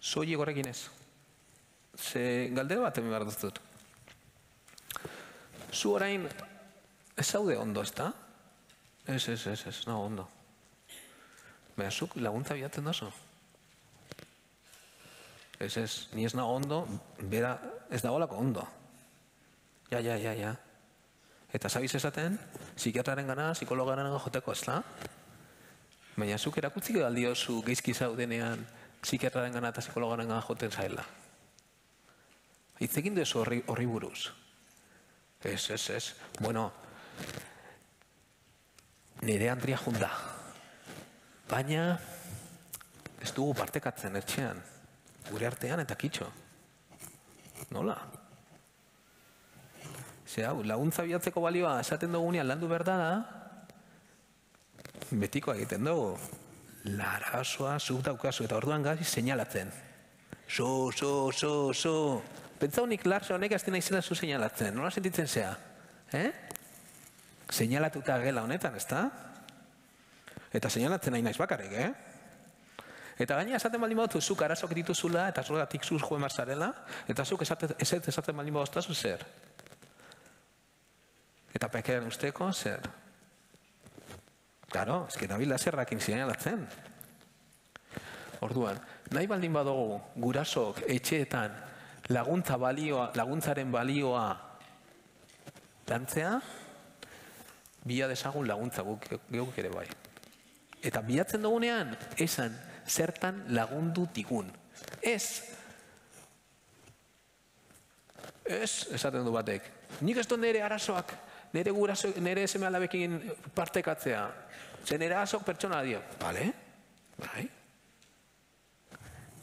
Soilik horrekin ez. Ze galdera bat hemen behar dut. Zu orain ez zaude ondo, ez da? Ez, ez, ez, ez, nago ondo. Baina zuk laguntza bilatzen dozu. Ez, ez, ni ez nago ondo, bera ez dagoelako ondo. Ja, ja, ja, ja. Eta zabiz esaten, psikiatraren gana, psikologaren gana joteko, ez da? Baina zuk erakutzik aldiozu geizki zaudenean psikiatraren gana eta psikologaren gana joten zaila. Itzekin duzu horri buruz. Ez, ez, ez. Bueno, nire Andria junda. Baina ez dugu partekatzen etxean. Gure artean eta kitxo. Nola? Ze hau, laguntza bilatzeko balioa esaten dugunean landu behar da, betiko egiten dugu. Larasoa, zuk daukazu, eta orduan gazi seinalatzen. So, so, so, so. Pentsa honik larso honek azten naizela zu seinalatzen. Nola sentitzen zea? Eh? Seinalatuta gela honetan, ez da? Eta seinalatzen nahi naiz bakarrik, eh? Eta gaina esaten baldin bautu, zuk arazok dituzula, eta zoratik zuz joen barzarela, eta zuk esaten esaten baldin bauztazu zer. Eta pekeren usteko zer. Claro, ez que nabil zerrakin seinalatzen. Orduan, nahi baldin badugu gurasok etxeetan laguntza balioa, laguntzaren balioa lantzea, bila desagun laguntza guk geuk ere bai. Eta bilatzen dugunean, esan zertan lagundu digun. Ez, ez, esaten du batek. Nik ez dut nire arazoak, nire guraso, nire seme alabekin partekatzea. Ze nire arazoak pertsona dio. Bale, bai.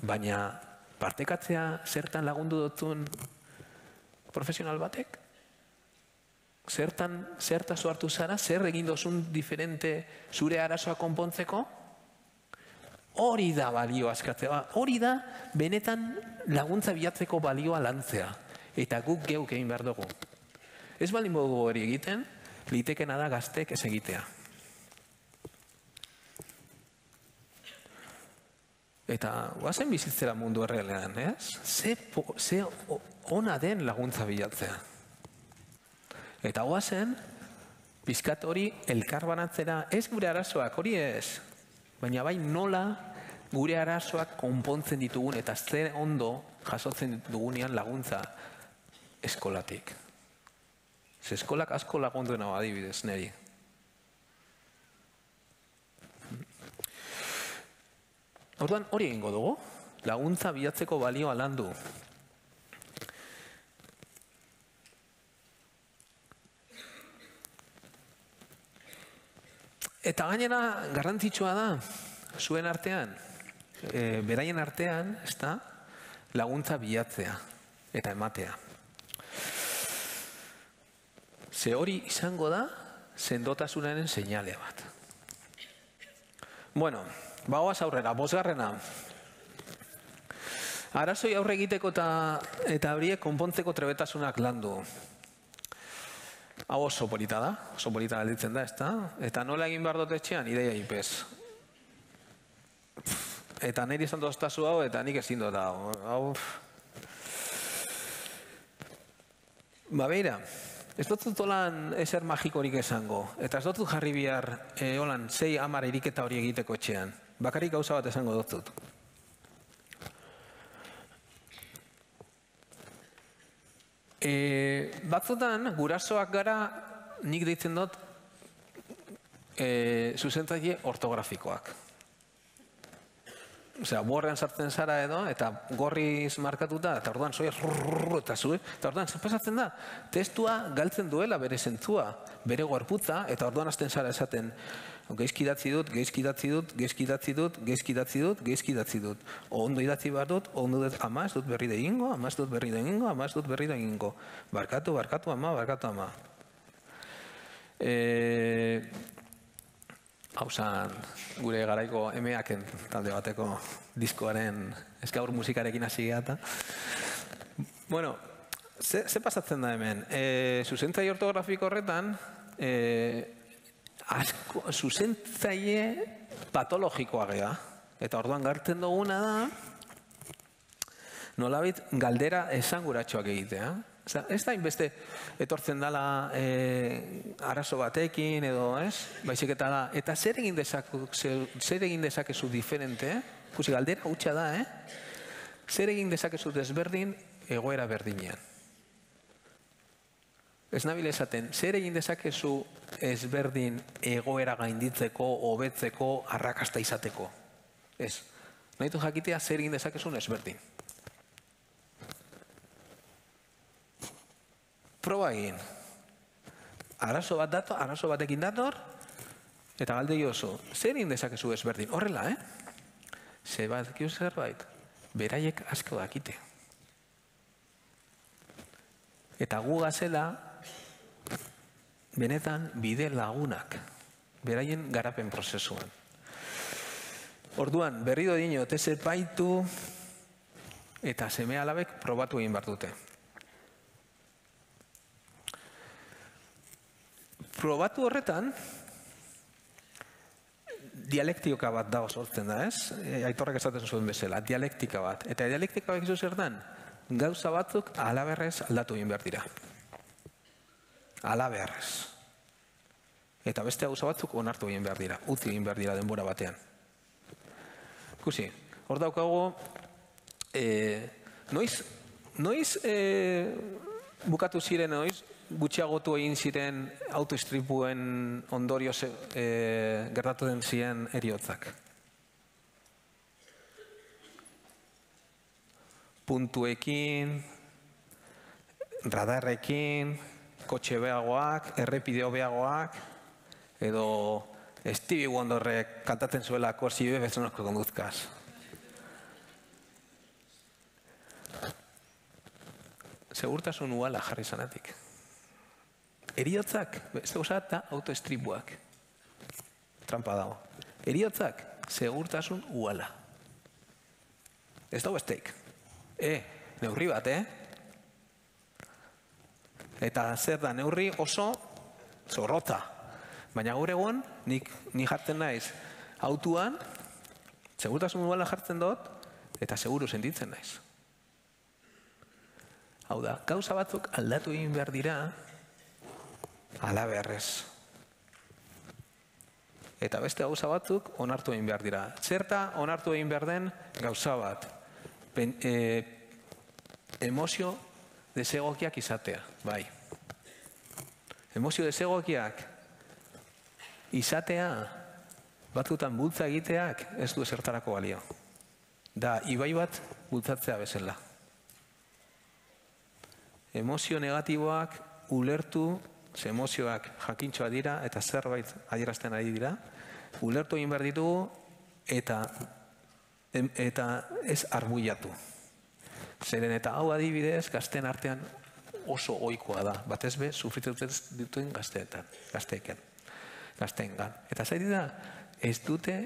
Baina partekatzea zertan lagundu dutun profesional batek? Zertan, zertazu hartu zara, zer egin dozun diferente zure arazoa konpontzeko? Hori da balioa askatzea, hori da benetan laguntza bilatzeko balioa lantzea. Eta guk geuk egin behar dugu. Ez baldin modu hori egiten, litekena da gaztek ez egitea. Eta guazen bizitzera mundu errealean, ez? Ze ona den laguntza bilatzea. Eta guazen, pizkat hori elkarbanatzera, ez gure arazoak, hori ez. Baina bai nola gure arazoak konpontzen ditugun eta zer ondo jasotzen ditugunean laguntza eskolatik. Ze eskolak asko lagunduen hau adibidez, neri. Orduan hori egingo dugu, laguntza bilatzeko balioa landu. Eta gainera garrantzitsua da, zuen artean, e, beraien artean, ez da, laguntza bilatzea eta ematea. Ze hori izango da, sendotasunaren seinale bat. Bueno, bagoaz aurrera, bosgarrena. Arazoi aurre egiteko eta, eta horiek konpontzeko trebetasunak landu. Hau oso polita da, oso polita galditzen da, ez da? Eta nola egin behar dut etxean, ideia ipez. Eta niri esan doztazu hau, eta nik ezin dut hau. hau. Ba, beira, ez dut holan ezer magikorik esango. Eta ez dut jarri bihar, e, holan, sei hamar iriketa hori egiteko etxean. Bakarrik gauza bat esango dut. E, batzutan, gurasoak gara, nik deitzen dut, e, zuzentzaile ortografikoak. Osea, borrean sartzen zara edo, eta gorriz markatuta, eta orduan soia rrrrrrr, eta zue, eta orduan zer pasatzen da, testua galtzen duela bere zentzua, bere gorputza, eta orduan hasten zara esaten, geizki idatzi dut, geizki idatzi dut, geizki idatzi dut, geizki idatzi dut, geizki idatzi dut. O ondo idatzi behar dut, ondo dut, ama ez dut berri da egingo, ama ez dut berri da egingo, ama ez dut berri da egingo. Barkatu, barkatu, ama, barkatu, ama. E... Hau zan, gure garaiko emeaken talde bateko diskoaren eskaur musikarekin hasi geha. Bueno, ze, ze pasatzen da hemen? E, zuzentzaile ortografiko horretan, e, asko, zuzentzaile patologikoa geha. Eta orduan gartzen duguna da, nolabait galdera esanguratsuak egitea. Oza, ez da inbeste etortzen dela e, arazo batekin edo, ez? Baizik eta da, eta zer egin dezakezu, zer egin dezakezu diferente, eh? Kusi, galdera hutsa da, eh? Zer egin dezakezu desberdin egoera berdinean. Ez nabil esaten, zer egin dezakezu ezberdin egoera gainditzeko, hobetzeko, arrakasta izateko. Ez, nahitu jakitea zer egin dezakezun ezberdin. Proba egin. Arazo bat dator, arazo batekin dator, eta galdei oso, zer egin dezakezu ezberdin? Horrela, eh? Ze bat ekiu zerbait, beraiek asko dakite. Eta gu gazela, benetan bide lagunak, beraien garapen prozesuan. Orduan, berri do dino, teze baitu, eta seme alabek probatu egin behar dute. Probatu horretan, dialektika bat da sortzen da, ez? Aitorrak esaten zuen bezala, dialektika bat. Eta dialektika bat izu zertan, gauza batzuk alaberrez aldatu egin behar dira. Alaberrez. Eta beste gauza batzuk onartu egin behar dira, utzi egin behar dira denbora batean. Ikusi, hor daukago, e, noiz, noiz e, bukatu ziren, noiz, gutxiagotu egin ziren autoistripuen ondorioz e, gertatu den ziren heriotzak. Puntuekin, radarrekin, kotxe beagoak, errepide hobeagoak, edo Stevie Wonderrek kantatzen zuelako si bebes no conduzcas. Segurtasun uala jarri zanatik. Heriotzak, ez da eta autoestripuak. Trampa dago. Heriotzak, segurtasun uala. Ez dago esteik. E, neurri bat, eh? Eta zer da, neurri oso zorrotza. Baina gaur egon, nik, nik jartzen naiz autuan, segurtasun uala jartzen dut, eta seguru sentitzen naiz. Hau da, gauza batzuk aldatu egin behar dira, alaberrez. Eta beste gauza batzuk onartu egin behar dira. Zerta onartu egin behar den gauza bat. Ben, e, emozio desegokiak izatea, bai. Emozio desegokiak izatea, batzutan bultza egiteak ez du ezertarako balio. da ibai bat bultzatzea bezala. Emozio negatiboak ulertu, ze emozioak jakintxoa dira eta zerbait adierazten ari dira, ulertu egin behar ditugu eta, eta ez arbuiatu. Zeren eta hau adibidez, gazteen artean oso ohikoa da, batez be, sufritzen dituen gazteetan, gazteeken, gazteengan. Eta zaiti da, ez dute,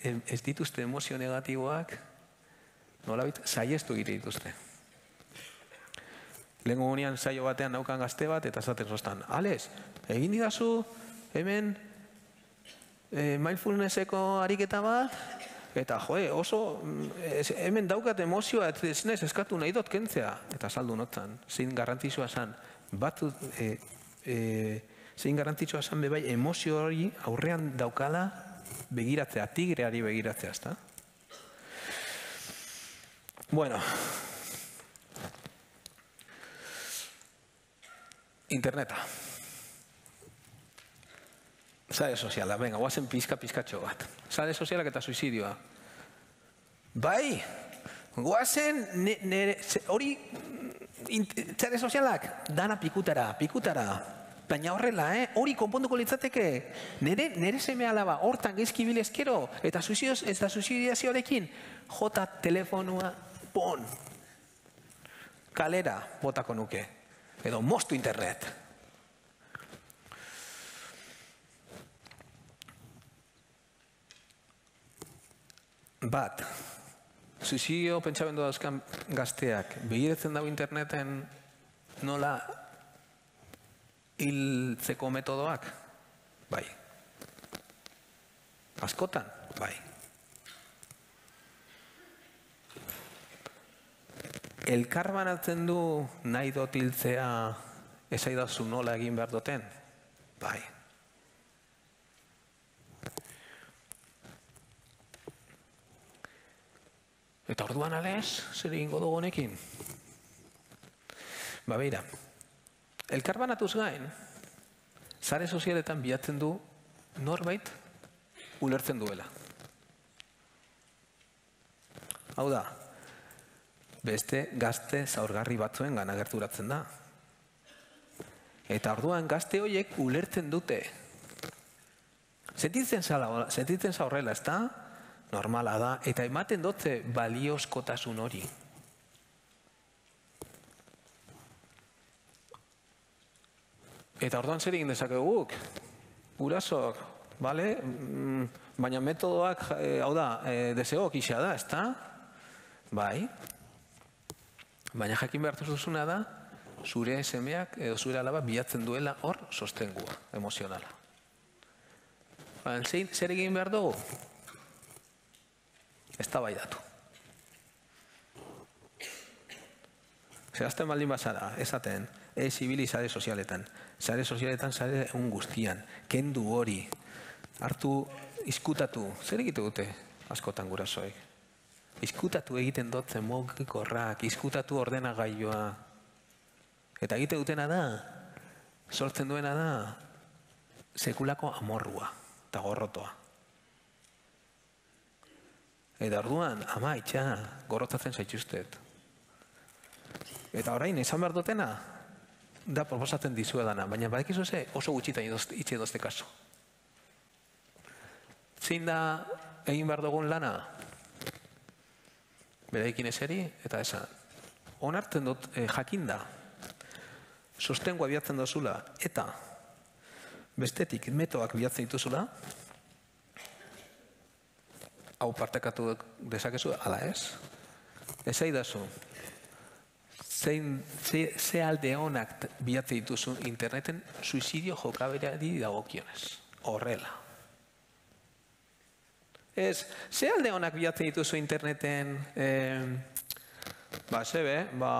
ez dituzte emozio negatiboak, nolabait, saiestu egite dituzte. Lehenko gunean saio batean naukan gazte bat, eta zaten zoztan, Alex, egin didazu hemen e, mindfulnesseko ariketa bat, eta joe, oso ez, hemen daukat emozioa, ez nez eskatu nahi dut kentzea, eta saldu notan, zein garrantzitsua zan, bat, e, e, zein garrantzitsua zan bebai emozio hori aurrean daukala begiratzea, tigreari begiratzea, ezta? Bueno, interneta. Sare soziala, venga, guazen pizka-pizkatxo bat. Sare sozialak eta suizidioa. Bai, guazen, hori, sare sozialak, dana pikutara, pikutara. Baina horrela, eh? Hori konponduko litzateke. Nere, nere seme alaba, hortan gezki bilezkero, eta suizidioz, ez da suizidiazioarekin, jota telefonua, pon. Kalera, botako nuke. Edo moztu internet. Bat, suizidio pentsamendu dauzkan gazteak begiratzen dago interneten nola hiltzeko metodoak? Bai. Askotan? Bai. Elkar banatzen du nahi dut hiltzea esaidazu nola egin behar duten? Bai. Eta orduan alez, zer egingo dugu honekin? Ba beira, elkar banatuz gain, sare sozialetan bilatzen du norbait ulertzen duela. Hau da, beste gazte zaurgarri batzuen gana gerturatzen da. Eta orduan gazte horiek ulertzen dute. Sentitzen zaurrela, ez da? Normala da. Eta ematen dute baliozkotasun hori. Eta orduan zer egin dezakeguk? Gurasok, bale? Baina metodoak, hau da, deseok isa da, ez da? Bai. Baina jakin behartu duzuna da, zure semeak edo zure alaba bilatzen duela hor sostengua, emozionala. Zer egin behar dugu? Ez da bai datu. Zerazten baldin bazara, esaten, ez ibili sare sozialetan. Sare sozialetan, sare egun guztian. Kendu hori. Hartu, izkutatu. Zer egite dute askotan gurasoek? Izkutatu egiten dotzen mugikorrak, izkutatu ordenagailua. Eta egite dutena da, sortzen duena da, sekulako amorrua eta gorrotoa. Eta orduan, ama, itxa, gorrotzatzen zaituztet. Eta orain, esan behar dutena, da proposatzen dizuedana, baina badekizu ze oso gutxitan itxe dozte kaso. Zein da egin behar dugun lana? Beraikin eseri, eta esan, onartzen dut jakinda, sostengua bilatzen dozula, eta bestetik metoak bilatzen dituzula, hau partekatu dezakezu, ala ez? Ez aidazu, ze alde honak bilatzen dituzun interneten suizidio jokaberari dagokionez. Horrela. Ez, ze alde honak bilatzen dituzu interneten, ba, zebe, ba,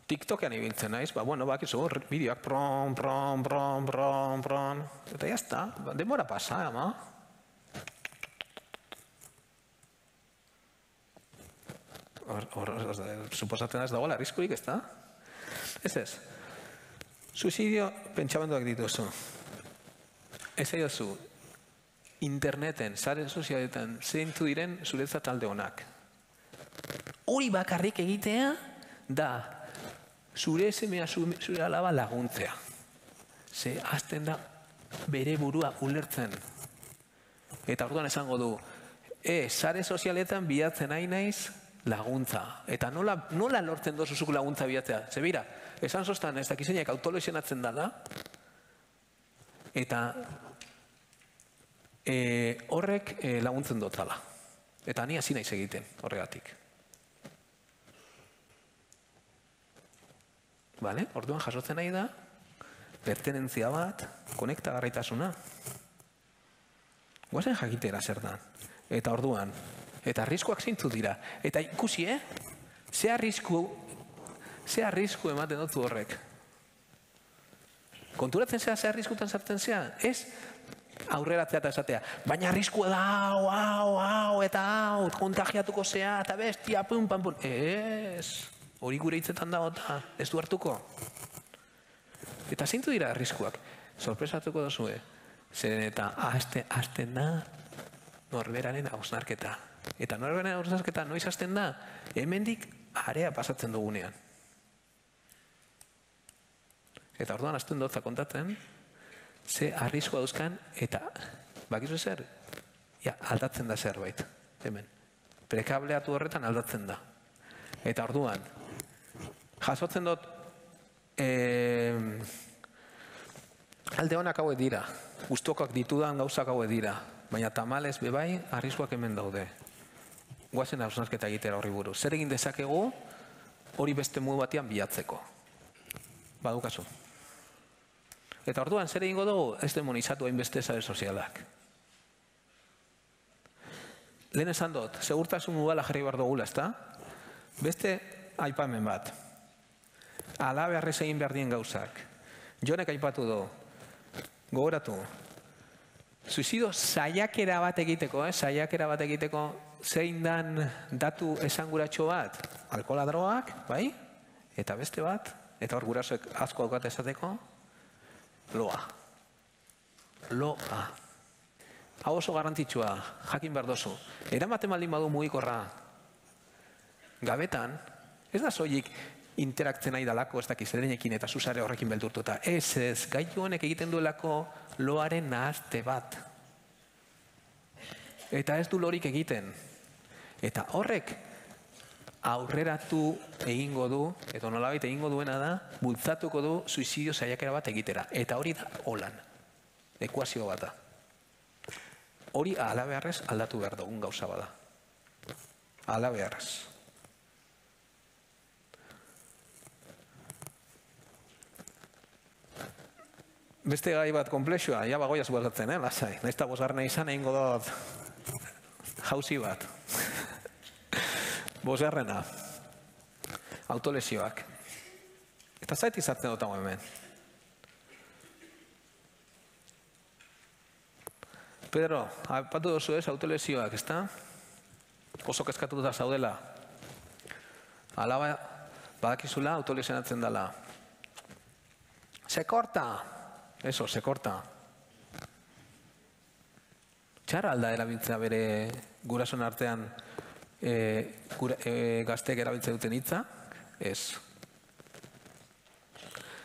TikTokean ibiltzen naiz, ba, bueno, bakizu, bideoak pron, pron, pron, pron, pron, eta jazta, denbora pasa, ama. Suposatzen ez dagoela, arriskurik, ez da? Ez ez. Suizidio pentsamenduak dituzu. Ez aidazu, interneten, sare sozialetan, zeintu diren zuretzat alde honak. Hori bakarrik egitea da zure semea, zure alaba laguntzea. Ze hasten da bere burua ulertzen. Eta orduan esango du, e, sare sozialetan bilatzen nahi naiz laguntza. Eta nola, nola lortzen dozuzuk laguntza bilatzea? Ze bera, esan zoztan ez dakizeinak autolesionatzen dala, eta e, horrek e, laguntzen dotala. Eta ni hasi naiz egiten horregatik. Vale? Orduan jasotzen nahi da, pertenentzia bat, konektagarritasuna. Guazen jakitera zer da. Eta orduan, eta arriskuak zeintzu dira. Eta ikusi, eh? Ze arrisku, ze arrisku ematen dut horrek. Konturatzen zea, ze arriskutan sartzen zea? Ez aurreratzea eta esatea. Baina arriskua da, hau, hau, hau, eta hau, kontagiatuko zea, eta bestia, pum, pam, pum. Ez, hori gure hitzetan dago eta ez du hartuko. Eta zeintu dira arriskuak? Sorpresatuko dozue. Zeren eta hasten da norberaren hausnarketa. Eta norberaren hausnarketa noiz hasten da? Hemendik area pasatzen dugunean. Eta orduan hasten dutza kontatzen, ze arriskua dauzkan, eta bakizu zer? Ja, aldatzen da zerbait. Hemen. Prekableatu horretan aldatzen da. Eta orduan, jasotzen dut, eh, alde honak hauek dira. Guztokak ditudan gauzak hauek dira. Baina tamalez bebai, arriskuak hemen daude. Guazen hausnarketa egitera horri buruz. Zer egin dezakegu hori beste modu batean bilatzeko. Badukazu. Eta orduan, zer egingo dugu? Ez demonizatu hainbeste sare sozialak. Lehen esan dut, segurtasun mugala jarri behar dugula, ezta? Beste aipamen bat. Ala beharrez egin behar dien gauzak. Jonek aipatu du. Gogoratu. Suizidio saiakera bat egiteko, eh? Saiakera bat egiteko zein dan datu esanguratxo bat? Alkohola, drogak, bai? Eta beste bat? Eta hor gurasoek asko daukat esateko? Loa. Loa. Hau oso garrantzitsua, jakin behar dozu. Eramaten baldin badu mugikorra. Gabetan, ez da soilik interaktzen nahi dalako, ez dakiz edenekin eta zuzare horrekin beldurtuta. Ez ez, gaitu honek egiten duelako loaren nahazte bat. Eta ez du lorik egiten. Eta horrek aurreratu egingo du, eta nolabait egingo duena da, bultzatuko du suizidio saiakera bat egitera. Eta hori da holan. Ekuazio bat da. Hori ala beharrez aldatu behar dugun gauza bada. Ala beharrez. Beste gai bat komplexua, ja bagoia zubazatzen, eh, lasai. Naiz eta bosgarrena izan egingo dut jauzi bat. Bosgarrena. Autolesioak. Eta zait izartzen dut hau hemen. Pedro, apatu dozu ez autolesioak, ezta? Oso kezkatuta zaudela. Alaba, badakizula autolesionatzen dela. Se corta. Eso, se corta. Txarra alda erabiltzea bere gurason artean e, gura, e, gazteek erabiltzea duten hitza? Ez.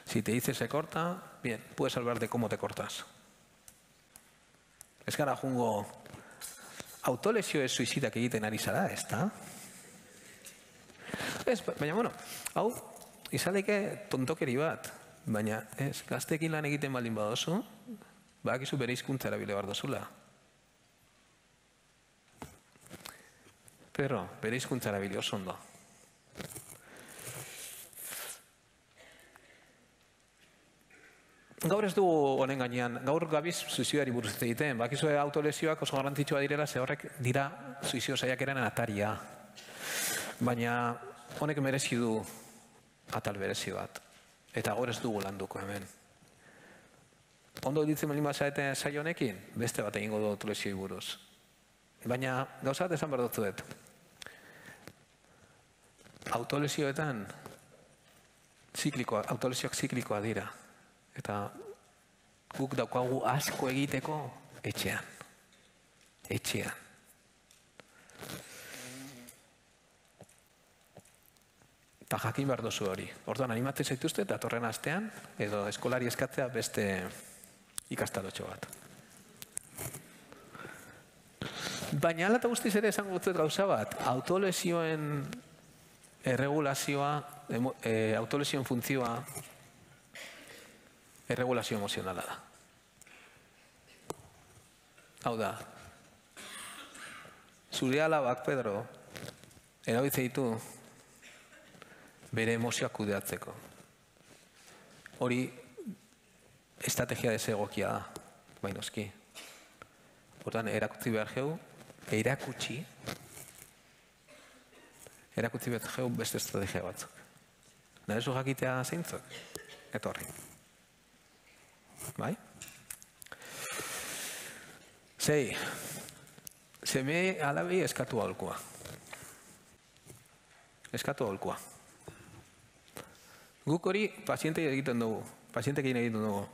Si te dice se corta, bien, puedes hablar de cómo te cortas. Ez gara jungo autolesio ez suizidak egiten ari zara, ez da? Ez, baina, bueno, hau, izaleke tontokeri bat. Baina, ez, gazteekin lan egiten baldin badozu, badakizu bere hizkuntza erabile behar dozula. Pero, bere hizkuntza erabile oso ondo. Gaur ez du honen gainean, gaur gabiz suizioari buruz egiten. Bakizu autolesioak oso garrantzitsua direla, ze horrek dira suizio saiakeraren ataria. Baina, honek merezi du atal berezi bat. Eta gaur ez dugu landuko hemen. Ondo ditzen melin bazaeten saio honekin, beste bat egingo du autolesioi buruz. Baina, gauza bat esan behar dut dut. Autolesioetan, ziklikoa, autolesioak ziklikoa dira. Eta guk daukagu asko egiteko etxean. etxean. Eta jakin behar duzu hori. Orduan, animatzen zaituzte, eta torren astean, edo eskolari eskatzea beste ikastarotxo bat. Baina ala eta guztiz ere esango dut gauza bat, autolesioen erregulazioa, e, autolesioen funtzioa, erregulazio emozionala da. Hau da, zure alabak, Pedro, erabiltze ditu bere emozioak kudeatzeko. Hori estrategia desegokia da, bainoski. Hortan, erakutsi behar geu, erakutsi, erakutsi behar geu beste estrategia batzuk. Narezu jakitea zeintzuk? Etorri. Bai? Zei, seme alabi eskatu aholkua. Eskatu aholkua. Guk hori paziente egiten dugu, pazientekin egiten dugu.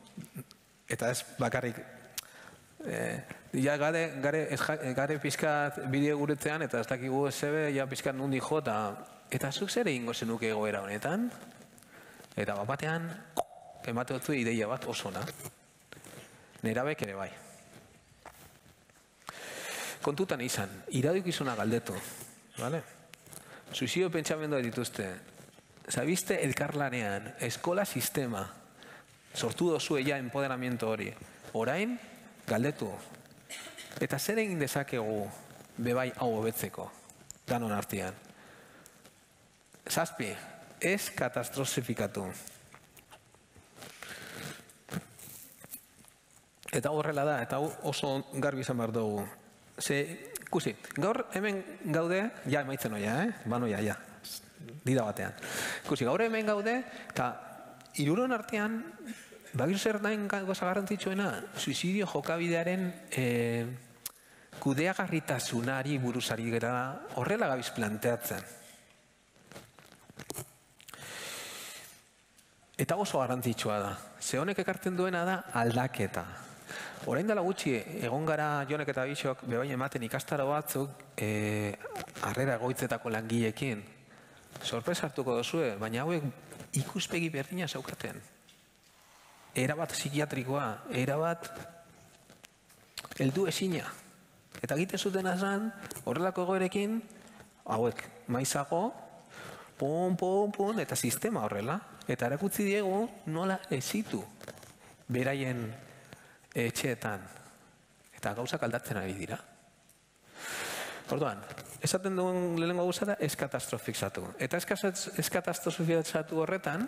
Eta ez bakarrik, ja gare, gare, gare pizkat bideo guretzean, eta ez dakigu zebe, ja pizkat nundi jo, eta zuk zer egingo zenuke egoera honetan, eta bat batean, emate dutzu ideia bat osona. Nerabek ere bai. Kontutan izan, iradukizuna galdetu, vale? Suizidio pentsamenduak dituzte. Zabiste elkarlanean, eskola sistema, sortu dozu ella empoderamiento hori. Orain, galdetu. Eta zer egin dezakegu bebai hau hobetzeko, danon artean. Zazpi, ez katastrofifikatu. Eta horrela da, eta oso garbi izan behar dugu. Ze, ikusi, gaur hemen gaude, ja emaitzen oia, eh? Banoia, ja, dida batean. Ikusi, gaur hemen gaude, eta hiruron artean, bagiru zer nahin goza garrantzitsuena, suizidio jokabidearen eh, kudeagarritasunari buruzari gara horrela gabiz planteatzen. Eta oso garrantzitsua da. Ze honek ekartzen duena da aldaketa. Orain dela gutxi, egon gara Jonek eta Bixok bebain ematen ikastaro batzuk eh, harrera egoitzetako langileekin. Sorpresa hartuko dozue, baina hauek ikuspegi berdina zaukaten. Erabat psikiatrikoa, erabat heldu ezina. Eta egiten zuten azan, horrelako egoerekin, hauek maizago, pun, pun, pun, eta sistema horrela. Eta erakutsi diegu nola ezitu beraien etxeetan. Eta gauzak aldatzen ari dira. Orduan, esaten duen lehenengo gauza da ez katastrofizatu. Eta ez katastrofizatu horretan,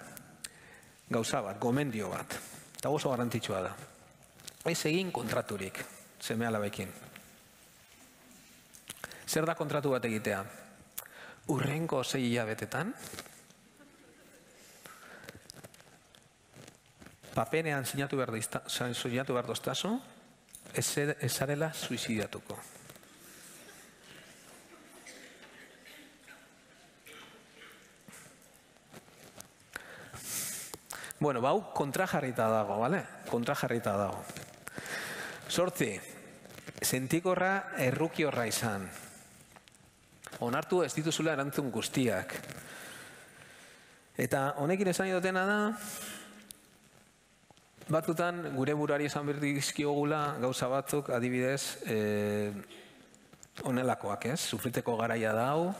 gauza bat, gomendio bat. Eta oso garrantzitsua da. Ez egin kontraturik, seme alabekin. Zer da kontratu bat egitea? Urrengo sei hilabetetan, papenean sinatu behar doztazo, ez zarela suizidiatuko. Bueno, bau kontrajarrita dago, bale? Kontrajarrita dago. Sortzi, sentikorra erruki horra izan. Onartu ez dituzula erantzun guztiak. Eta honekin esan dutena da, batzutan gure buruari esan berdizkiogula gauza batzuk adibidez honelakoak, ez? Sufriteko garaia da hau,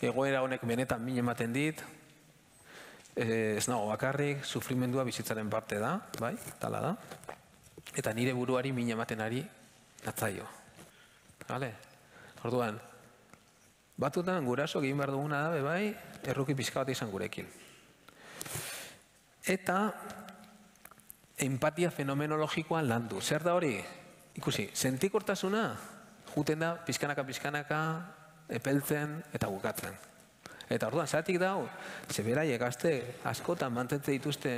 egoera honek benetan min ematen dit, ez nago bakarrik, sufrimendua bizitzaren parte da, bai, tala da, eta nire buruari min ematen ari natzaio. Vale? Orduan, batzutan guraso egin behar duguna da, bai, erruki pixka bat izan gurekin. Eta empatia fenomenologikoan landu. Zer da hori? Ikusi, sentikortasuna juten da pizkanaka-pizkanaka epeltzen eta bukatzen. Eta orduan, zeratik da hau, zeberaiek gazte askotan mantentze dituzte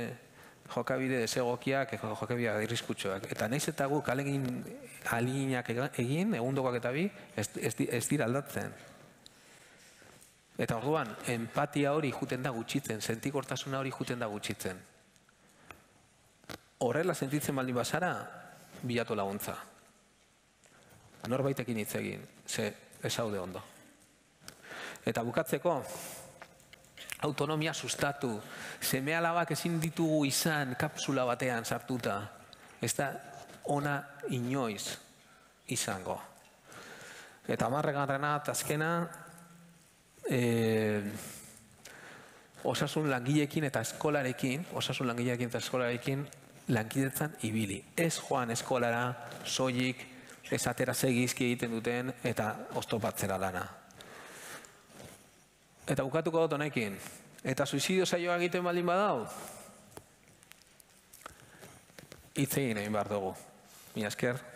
jokabide desegokiak, jokabide irriskutsuak. Eta nahiz eta guk ahaleginak egin, egundokoak eta bi, ez dira aldatzen. Eta orduan, empatia hori juten da gutxitzen, sentikortasuna hori juten da gutxitzen. Horrela sentitzen baldin bazara, bilatu laguntza. norbaitekin hitz egin, ze ez haude ondo. Eta bukatzeko, autonomia sustatu, seme alabak ezin ditugu izan kapsula batean sartuta, ez da ona inoiz izango. Eta hamargarrena eta azkena, eh, osasun langileekin eta eskolarekin, osasun langileekin eta eskolarekin lankidetzan ibili. Ez joan eskolara, soilik, ez atera segizki egiten duten eta oztopatzera lana. Eta bukatuko dut honekin. Eta suizidio saioa egiten baldin badau, hitz egin egin behar dugu. Mila esker.